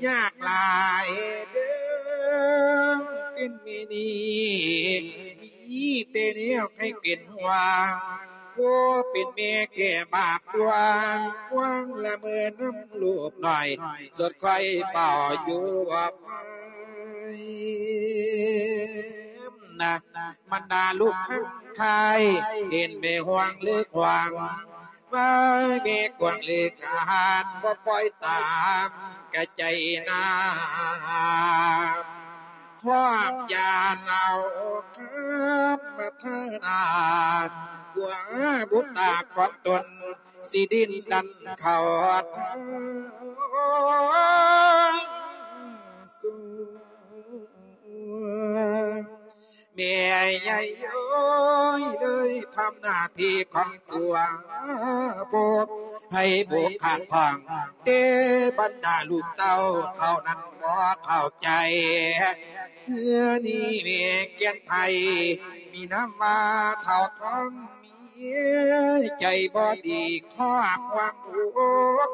ຍາກຫຼາຍເດີ ເປັນແມ່ນີ້ ມີແຕ່ແນວໃຫ້ເປັນຫ່ວງ ຜູ້ເປັນແມ່ແກ່ບາບດວງ ຫວງລະເມີນຳລູກນ້ອຍ ສົດຄອຍເຝົ້າຢູ່ວ່າໄປນະ ບັນດາລູກທັງຂາຍ ເຫັນແມ່ຫ່ວງເລີກຫວັງ ວ່າແມ່ກວາງເລີກອາຫານ ບໍ່ປ່ອຍຕາມກະໃຈນາ ພ້ອມຢານເອົາຄຳພັດທະນາ ກວ່າບຸດຕາຂອງຕົນ ຊິດິ້ນດັນເຂົ້າທາງສູ່ ແມ່ໃຫຍ່ເອີຍ ເລີຍທຳໜ້າທີ່ຂອງຕົວບົດ ໃຜບໍ່ຂາດຂ້ອງ ແຕ່ບັນດາລູກເຕົ້າເຂົານັ້ນບໍ່ເຂົ້າໃຈ. ເຮືອນີ້ແມ່ແກ່ນໄພ ມີນາມວ່າທ້າວທອງມີ ໃຈບໍ່ດີຄອກຫວັງອົກ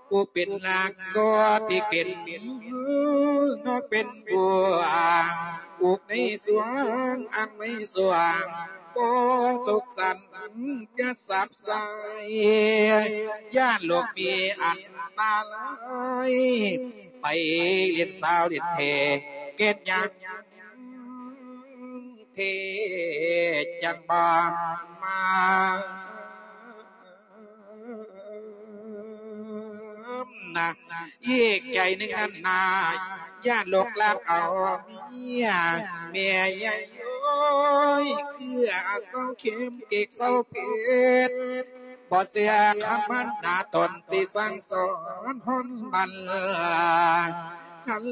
ຜູ້ເປັນຫຼັກກໍທີ່ເປັນນອກເປັນບົວ ອຸກໃນສວງ ອັງໃນສວງ ບໍ່ສຸກສັນກະສັບ ໃສ ຢ້ານໂລກມີອັນຕະລາຍ ໄປຫຼິ້ນສາວຫຼິ້ນແທ້ ເກັດຫຍັງເທ ຈັ່ງບໍ່ມານະ. ອີກໃຈໜຶ່ງນັ້ນນາ ຢ້ານໂລກລັກເອົາເມຍ ແມ່ໃຫຍ່ໂອ້ຍ ເກືອເຊົາເຄັມ ເກກເຊົາເຜັດ ບໍ່ເຊື່ອຄຳພັນດາຕົນທີ່ສັ່ງສອນຮອນບັນ ຄັນ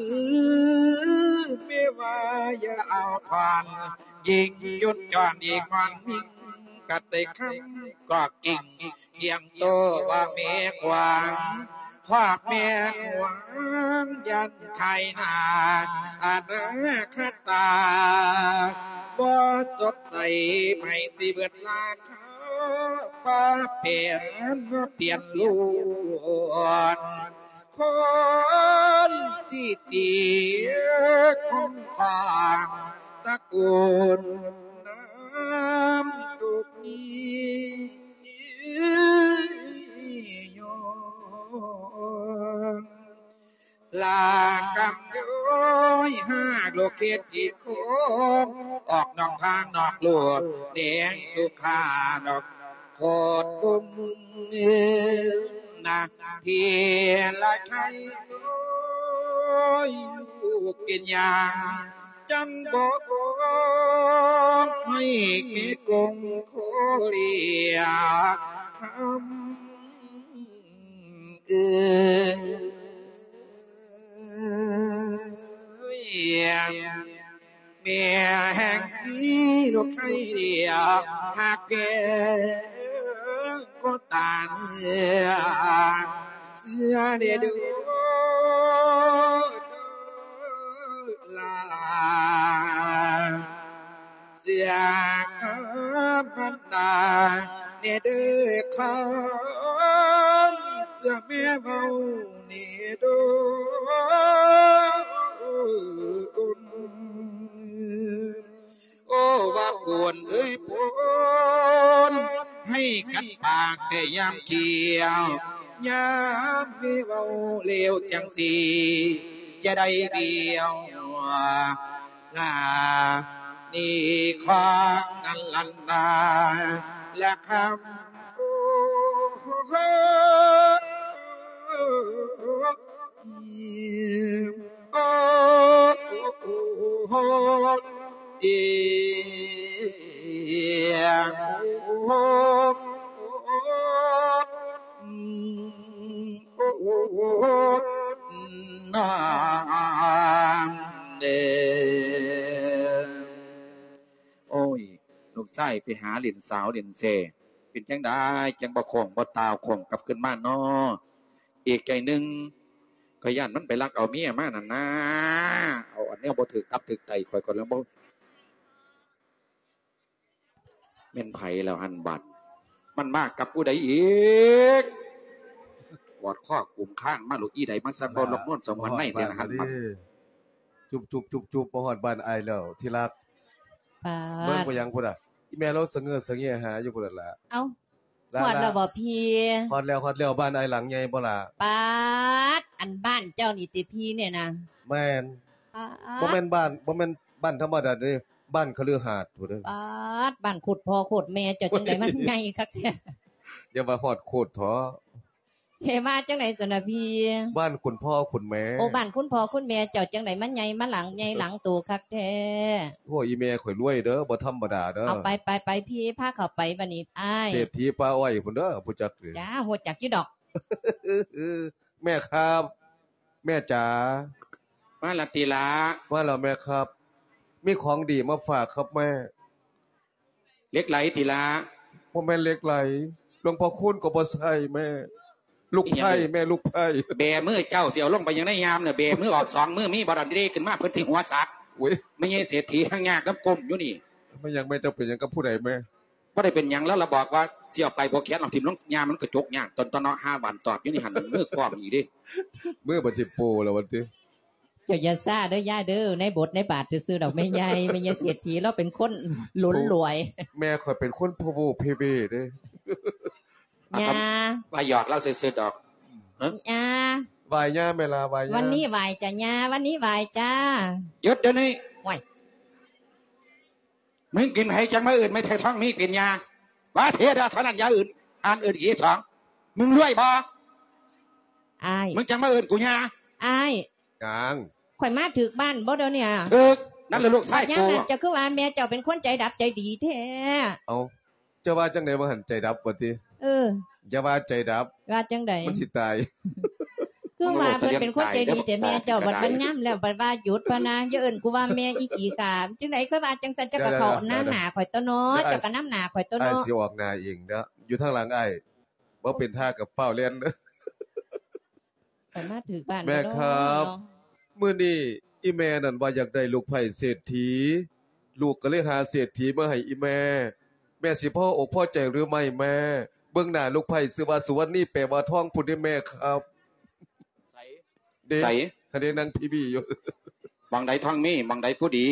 ແມ່ວ່າຢ່າເອົາຂວັນ ຍິງຢຸດຈອນອີກງອນມິງ ກັດໃສ່ຄຳກອກກິ່ງ ທ່ຽງໂຕວ່າແມ່ຂວາງ ຄວາກແມ່ນຫວງ ຢ້ານຂາຍໜ້າອະນາຄະຕາ ບໍ່ສົດໃສໃໝ່ຊິເບິດລາຄາ ປາແປນມາປ່ຽນລ້ວນ ຄົນທີ່ຕີຄົງຂອງຕະກູນນ້ຳຕົກນີ້ຍ້ອນ ລາກຳຍ້ອຍຫາກໂລກເຂດອີກຄົນ ອອກນອກທາງນອກໂລກແດງສຸຂານອກໂຄດກຸມນາ ທີ່ລະໄຄໂອ້ຍ ລູກເປັນຫຍັງ ຈັງບໍ່ຄອງໃຫ້ແມ່ກົງໂຄເລຍຄຳເອີຍ ແມ່ແຫ່ງມີລູກໃຄດຽວ ຫາກແພງກໍຕາເນື້ອ ເຊື່ອແດ່ເດີ ຫຼານ ເຊື່ອຄຳພັນດາແດ່ເດີ ຄຳເຊື່ອແມ່ເວົ້າແດ່ເດີ ໂອ້ ວ່າໂກນເອີຍໂກນ ໃຫ້ກັນປາກແຕ່ຍາມຂຽວ ຍາມແມ່ເວົ້າແລ້ວຈັ່ງຊີ້ ຈະໄດ້ດຽວ ລານີ້ຂອງນັ້ນລັນນາ ລະຄຳ ໂອ້ ໂອ້ ເອີ ໂອ້ ນາງເດີ. ໂອ້ຍ ລູກຊາຍໄປຫາຫຼິ້ນສາວຫຼິ້ນແຊ ເປັນຈັ່ງໃດຈັ່ງບໍ່ຄ້ອງບໍ່ຕ່າວຄ້ອງກັບຄືນມານໍ? ອີກໃຈໜຶ່ງ ຂ້ອຍຢ້ານມັນໄປລັກເອົາເມຍມານັ້ນນາ ເອົາອັນແນວບໍ່ຖືກຕັບຖືກໄຕຂ້ອຍ ຂ້ອຍລະບໍ່ ແມ່ນໃຜແລ້ວຫັ້ນບັດ ມັນມາກັບຜູ້ໃດອີກ? ກອດຄໍກຸມຄາງມາໂລດ ອີໃດມາສັກເວົ້າລອກນວນສະຫງວນໃນແທ້ຫັ້ນບັດ. ຈຸບໆໆໆ ມາຮອດບ້ານອ້າຍແລ້ວທີ່ລັກ. ປາດ ເບິ່ງໄປຫຍັງພຸ້ນນະ ອີແມ່ລາວສະເຫງີສະເຫງີຫາຢູ່ພຸ້ນລະ. ເອົ້າ ລະ ຮອດແລ້ວບໍ່ພີ່? ຮອດແລ້ວ ຮອດແລ້ວ. ບ້ານອ້າຍຫຼັງໃຫຍ່ບໍ່ລະ? ປາດ ອັນບ້ານເຈົ້ານີ້ຕິພີ່ນີ້ນະ? ແມ່ນ. ປາດ ບໍ່ແມ່ນບ້ານ ບໍ່ແມ່ນບ້ານທຳມະດາເດ້ ບ້ານຄະລືຫາດພຸ້ນເດ້. ປາດ ບ້ານໂຄດພໍ່ໂຄດແມ່ເຈົ້າຈັ່ງໃດມັນໃຫຍ່ຄັກແທ້. ຢ່າວ່າຮອດໂຄດເຖາະ. ເສວ່າຈັ່ງໃດຊັ້ນນະພີ່? ບ້ານຄຸນພໍ່ຄຸນແມ່. ໂອ້ ບ້ານຄຸນພໍ່ຄຸນແມ່ເຈົ້າຈັ່ງໃດມາໃຫຍ່ມາຫຼັງໃຫຍ່ຫຼັງໂຕຄັກແທ້. ໂອ້ ອີແມ່ຂ້ອຍລວຍເດີ ບໍ່ທຳມະດາເດີ. ເອົາໄປ ໄປ ໄປ ພີ່ພາເຂົ້າໄປບັດນີ້ອ້າຍ. ເສດຖີປ່າອ້ອຍພຸ້ນເດີ ຮູ້ຈັກເດີ. ຈ້າ ຮູ້ຈັກຢູ່ດອກ. ແມ່ຄັບ ແມ່ຈ໋າ. ມາລະຕິລະ. ມາແລ້ວແມ່ຄັບ ມີຂອງດີມາຝາກຄັບແມ່. ເຫຼັກໄຫຼຕິລະ. ບໍ່ແມ່ນເຫຼັກໄຫຼ ຫຼວງພໍ່ຄູນກໍບໍ່ໃສ່ແມ່ ລູກໄພ້ ອີຫຍັງ ແມ່ ລູກໄພ້ ແບມືເຈົ້າຊິເອົາລົງໄປຫຍັງໃນຍາມນະ ແບມືອອກສອງມື ມີບໍ່ດອນເດຂຶ້ນມາ ເພິ່ນຊິຫົວສາກ ໂອ້ຍ ແມ່ໃຫຍ່ເສດຖີຫາງຍາກນຳກົ້ມຢູ່ນີ້ ແມ່ນຫຍັງແມ່ ເຈົ້າເປັນຫຍັງກັບຜູ້ໃດແມ່? ບໍ່ໄດ້ເປັນຫຍັງ ລາວລະບອກວ່າຊິເອົາໄປຜູ້ແຂນ ເອົາຖິ້ມລົງຍາ ມັນກະຈົກຍາກ ຕອນ ຕອນເນາະ ຫາຫວ່ານຕອບຢູ່ນີ້ຫັ້ນ ມືກ້ອງອີກເດ້ ມືບັດຊິໂປແລ້ວວ່າຕິ. ເຈົ້າຢ່າຊ້າເດີຍາຍເດີ ໃນບົດໃນບາດຊື່ໆດອກແມ່ໃຫຍ່ ແມ່ໃຫຍ່ເສດຖີລາວເປັນຄົນຫຼົນຫຼວຍ ແມ່ຂ້ອຍເປັນຄົນໂພໂວເພເວເດ້ ອ່າ ຍ່າ ວ່າຫຍອກລາວຊື່ໆດອກ ຫື ຍ່າ ໄຫວ້ຍ່າແມ່ລາ ໄຫວ້ຍ່າ ວັນນີ້ໄຫວ້ຈ້າຍ່າ ວັນນີ້ໄຫວ້ຈ້າ ຢຸດດຽວນີ້ ໂອ້ຍ ມຶງກິນໃຜຈັ່ງມາເອີ້ນແມ່ໄທທອງມີເປັນຍ່າ ວ່າເທດາເທົ່ານັ້ນຢ່າເອີ້ນ ອ່ານເອີ້ນອີກສອງ ມຶງລວຍບໍ່ ອ້າຍ ມຶງຈັ່ງມາເອີ້ນກູຍ່າ ອ້າຍ ຫຍັງ ຂ້ອຍມາຖືກບ້ານບໍ່ດຽວນີ້ ຖືກ ນັ້ນລະລູກຊາຍກູ ຍາມນັ້ນເຈົ້າຄືວ່າແມ່ເຈົ້າເປັນຄົນໃຈດັບໃຈດີແທ້ ເອົ້າ ເຈົ້າວ່າຈັ່ງໃດວ່າຫັ້ນ ໃຈດັບວ່າຕິ ເອີ ຢ່າວ່າໃຈດັບ ວ່າຈັ່ງໃດ ມັນຊິຕາຍ ຄືວ່າເພິ່ນເປັນຄົນໃຈດີແຕ່ແມ່ເຈົ້າບັດມັນຍາມແລ້ວບັດວ່າຢຸດພະນາ ຢ່າເອີ້ນກູວ່າແມ່ອີຂີ້ຂ້າ ຈັ່ງໃດ ຂ້ອຍວ່າຈັ່ງຊັ້ນ ເຈົ້າກໍເຂົ້ານຳໜ້າຂ້ອຍຕົວເນາະ ເຈົ້າກໍນຳໜ້າຂ້ອຍຕົວເນາະ ອ້າຍຊິອອກໜ້າເອງເດີ ຢູ່ທາງຫຼັງອ້າຍ ບໍ່ເປັນທ່າກັບຟ້າວແລ່ນ ຂ້ອຍມາຖືກບ້ານແລ້ວເນາະ ແມ່ຄັບ ມື້ນີ້ອີ່ແມ່ນັ້ນວ່າຢາກໄດ້ລູກໄພ້ເສດຖີ ລູກກໍເລີຍຫາເສດຖີມາໃຫ້ອີ່ແມ່ ແມ່ຊິພໍອົກພໍໃຈຫຼືໄມ່ແມ່? ເບິ່ງໜ້າລູກໄພ້ຊື່ວ່າສຸວັນນີ ແປວ່າທອງພຸ້ນເດ້ແມ່ຄັບ ໃສ ເດ້ ໃສ ຫັ້ນເດ້ ນາງພີບີຢູ່ ໝ່ອງໃດທອງມີ ໝ່ອງໃດຜູ້ດີ?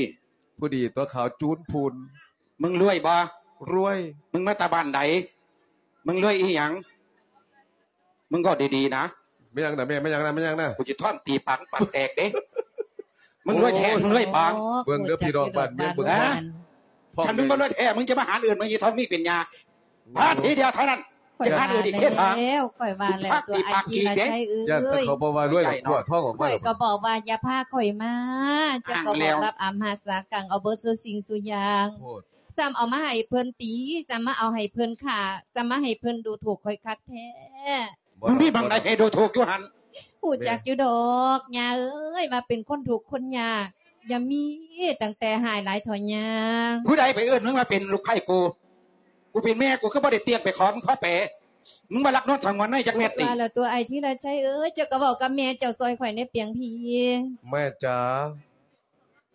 ຜູ້ດີຕົວະຂາວຈູນພຸ້ນ ມຶງລວຍບໍ່? ລວຍ ມຶງມາແຕ່ບ້ານໃດ? ມຶງລວຍອີ່ຫຍັງ? ມຶງເວົ້າດີໆນະ ແມ່ນຫຍັງນະແມ່? ແມ່ນຫຍັງນະ? ແມ່ນຫຍັງນະ? ກູຊິທ້ອນຕີປາກປາກແຕກເດ້ ມຶງລວຍແທ້ ມຶງລວຍປາງ ເບິ່ງເດີພີ່ນ້ອງບ້ານເມືອງເບິ່ງ ຄັນມຶງບໍ່ລວຍແທ້ ມຶງຈະມາຫາເອີ້ນມາອີ່ທອງມີເປັນຍາ ພາທີດຽວເທົ່ານັ້ນ ຈະຫາເອີ້ນອີກເທດທາງ ຂ້ອຍວ່າແລ້ວ ຂ້ອຍວ່າແລ້ວ ຕົວອ້າຍທີລະໄຊເອີຍ ຢ້ານແຕ່ເຂົາບໍ່ວ່າລວຍແລ້ວຕົວະທ້ອງອອກມາ ຂ້ອຍກໍບອກວ່າຢ່າພາຂ້ອຍມາ ເຈົ້າກໍບອກລັບອຳຫາດສາກັງເອົາເບິດສູ່ສິ່ງສູ່ຢ່າງ ໂພດ ຊ້ຳເອົາມາໃຫ້ເພິ່ນຕີ ຊ້ຳມາເອົາໃຫ້ເພິ່ນຂ້າ ຊ້ຳມາໃຫ້ເພິ່ນດູຖູກຂ້ອຍຄັກແທ້ ບໍ່ ມຶງມີໝ່ອງໃດໃຫ້ດູຖູກຢູ່ຫັ້ນ? ຮູ້ຈັກຢູ່ດອກ ຍ່າເອີຍ ວ່າເປັນຄົນທຸກຄົນຍາກ ຢ່າມີຕັ້ງແຕ່ຮ້າຍຫຼາຍເຖົ້າຍ່າ ຜູ້ໃດໄປເອີ້ນມຶງວ່າເປັນລູກໃພ້ກູ? ກູເປັນແມ່ ກູຄືບໍ່ໄດ້ຕຽງໄປຂໍມຶງຂໍແປ? ມຶງວ່າລັກນວນສະຫງວນໃນຈັກແມັດຕິ? ວ່າແລ້ວຕົວອ້າຍທີລະໄຊເອີຍ ເຈົ້າກໍເວົ້າກັບແມ່ເຈົ້າຊ່ອຍຂ້ອຍແດ່ ປຽງພີ ແມ່ຈ໋າ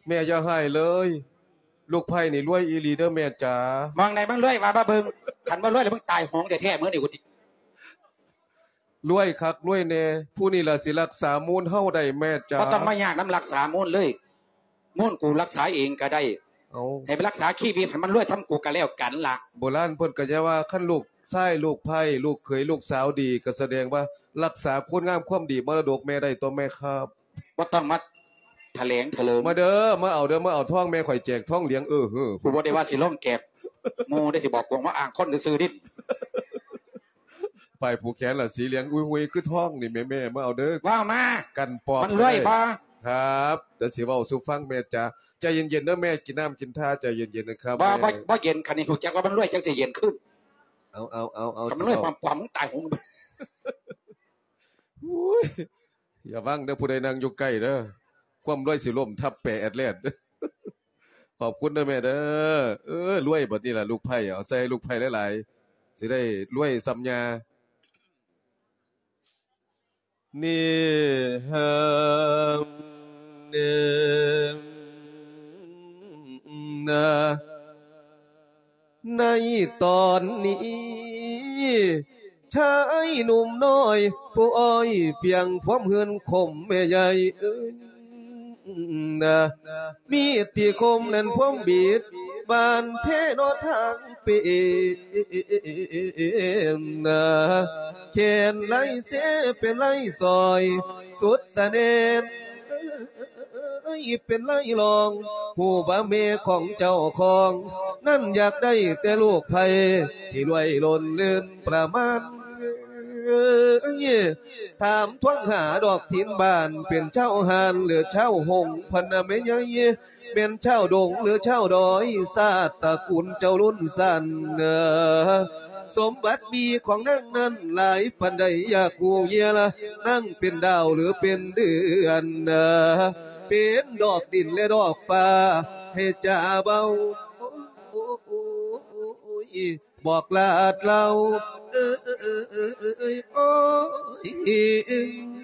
ແມ່ຢ່າຮ້າຍເລີຍ ລູກໃພ້ນີ້ລວຍອີ່ຫຼີເດີແມ່ຈ໋າ ມອງໃດມຶງລວຍວ່າມາເບິ່ງ ຄັນບໍ່ລວຍແລ້ວມຶງຕາຍໂຫງແທ້ໆ ມື້ນີ້ກູຕິ ລວຍຄັກລວຍແນ່ ຜູ້ນີ້ລະຊິຮັກສາມູນເຮົາໄດ້ແມ່ຈ໋າ ບໍ່ຕ້ອງມາຍາກນຳຮັກສາມູນເລີຍ ມູນກູຮັກສາເອງກໍໄດ້ ເອົາ ໃຫ້ໄປຮັກສາຊີວິດໃຫ້ມັນລວຍສ່ຳກູກໍແລ້ວກັນລະ ໂບລານເພິ່ນກໍຈະວ່າ ຄັນລູກຊາຍລູກໃພ້ ລູກເຂີຍລູກສາວດີ ກໍສະແດງວ່າຮັກສາຄຸນງາມຄວາມດີມໍລະດົກແມ່ໄດ້ຕົວະແມ່ຄັບ ບໍ່ຕ້ອງມາຖະແຫຼງຖະເຫຼີງ ມາເດີ ມາເອົາເດີ ມາເອົາທອງແມ່ຂ້ອຍແຈກທອງຫຼຽງ ເອີ ເຮີ ກູບໍ່ໄດ້ວ່າຊິລົງແກບໝູ່ເດ້ ຊິບອກກວງມາອ້າງຄົນຊື່ໆ ດິ ປ້າຍຜູກແຂນລະສີຫຼຽງອຸຍຫຸຍຄືທອງນີ້ແມ່ໆ ມາເອົາເດີ ເວົ້າມາ ກັນປອບ ມັນລວຍບໍ່? ຄັບ ດຽວຊິເວົ້າສູ່ຟັງແມ່ຈ໋າ ໃຈເຢັນໆເດີແມ່ ກິນນ້ຳກິນທ່າໃຈເຢັນໆນະຄັບ ບໍ່ ບໍ່ ບໍ່ເຢັນ ຄັນນີ້ຮູ້ຈັກວ່າມັນລວຍຈັ່ງຊິເຢັນຂຶ້ນ ເອົາໆໆ ຄັນມັນລວຍປອມໆ ມຶງຕາຍໂຫງ ໂອ້ຍ ຢ່າຫວັງເດີ ຜູ້ໃດນັ່ງຢູ່ໃກ້ເດີ ຄວາມລວຍຊິລົ້ມທັບແປແອດແລດ ຂອບຄຸນເດີແມ່ເດີ ເອີ ລວຍບັດນີ້ລະລູກໃພ້ ເອົາໃສ່ໃຫ້ລູກໃພ້ຫຼາຍໆ ຊິໄດ້ລວຍສ່ຳຍ່າ ນິຮັງ ເນ ນາ ໃນຕອນນີ້ ຊາຍໜຸ່ມນ້ອຍຜູ້ອ້ອຍ ພຽງຄວາມເຮືອນຄົມແມ່ໃຫຍ່ເອີຍນາ ມີດທີ່ຄົມນັ້ນພວມບີດ ບານເພເນາະທາງເປນນາ ແຂນໄລ່ເຊເປັນໄລ່ຊອຍ ສຸດສະແໜນ ເອີຍ ເປັນໄລ່ລອງ ຮູ້ວ່າແມ່ຂອງເຈົ້າຂອງ ນັ້ນຢາກໄດ້ແຕ່ລູກໃພ້ ທີ່ລວຍລົ້ນເລີນປະມານ ເອີຍ ຖາມທວງຫາດອກຖິ່ນບ້ານ ເປັນຊາວຮ້ານ ຫຼື ຊາວຫົງ ພັນນະແມ່ໃຫຍ່ ແມ່ນຊາວດົງ ຫຼື ຊາວດອຍ ຊາດຕະກູນເຈົ້າລຸ້ນສັ້ນ ເອີ ສົມບັດມີຂອງນາງນັ້ນຫຼາຍປານໃດ ຢາກຮູ້ເຫຍລະ ນາງເປັນດາວ ຫຼື ເປັນເດືອນ ເປັນດອກດິນ ແລະ ດອກຟ້າ ໃຫ້ຈາເບົາ ໂອ້ຍ ບອກລາດເລົ່າ ເອີຍ ໂອ້ຍ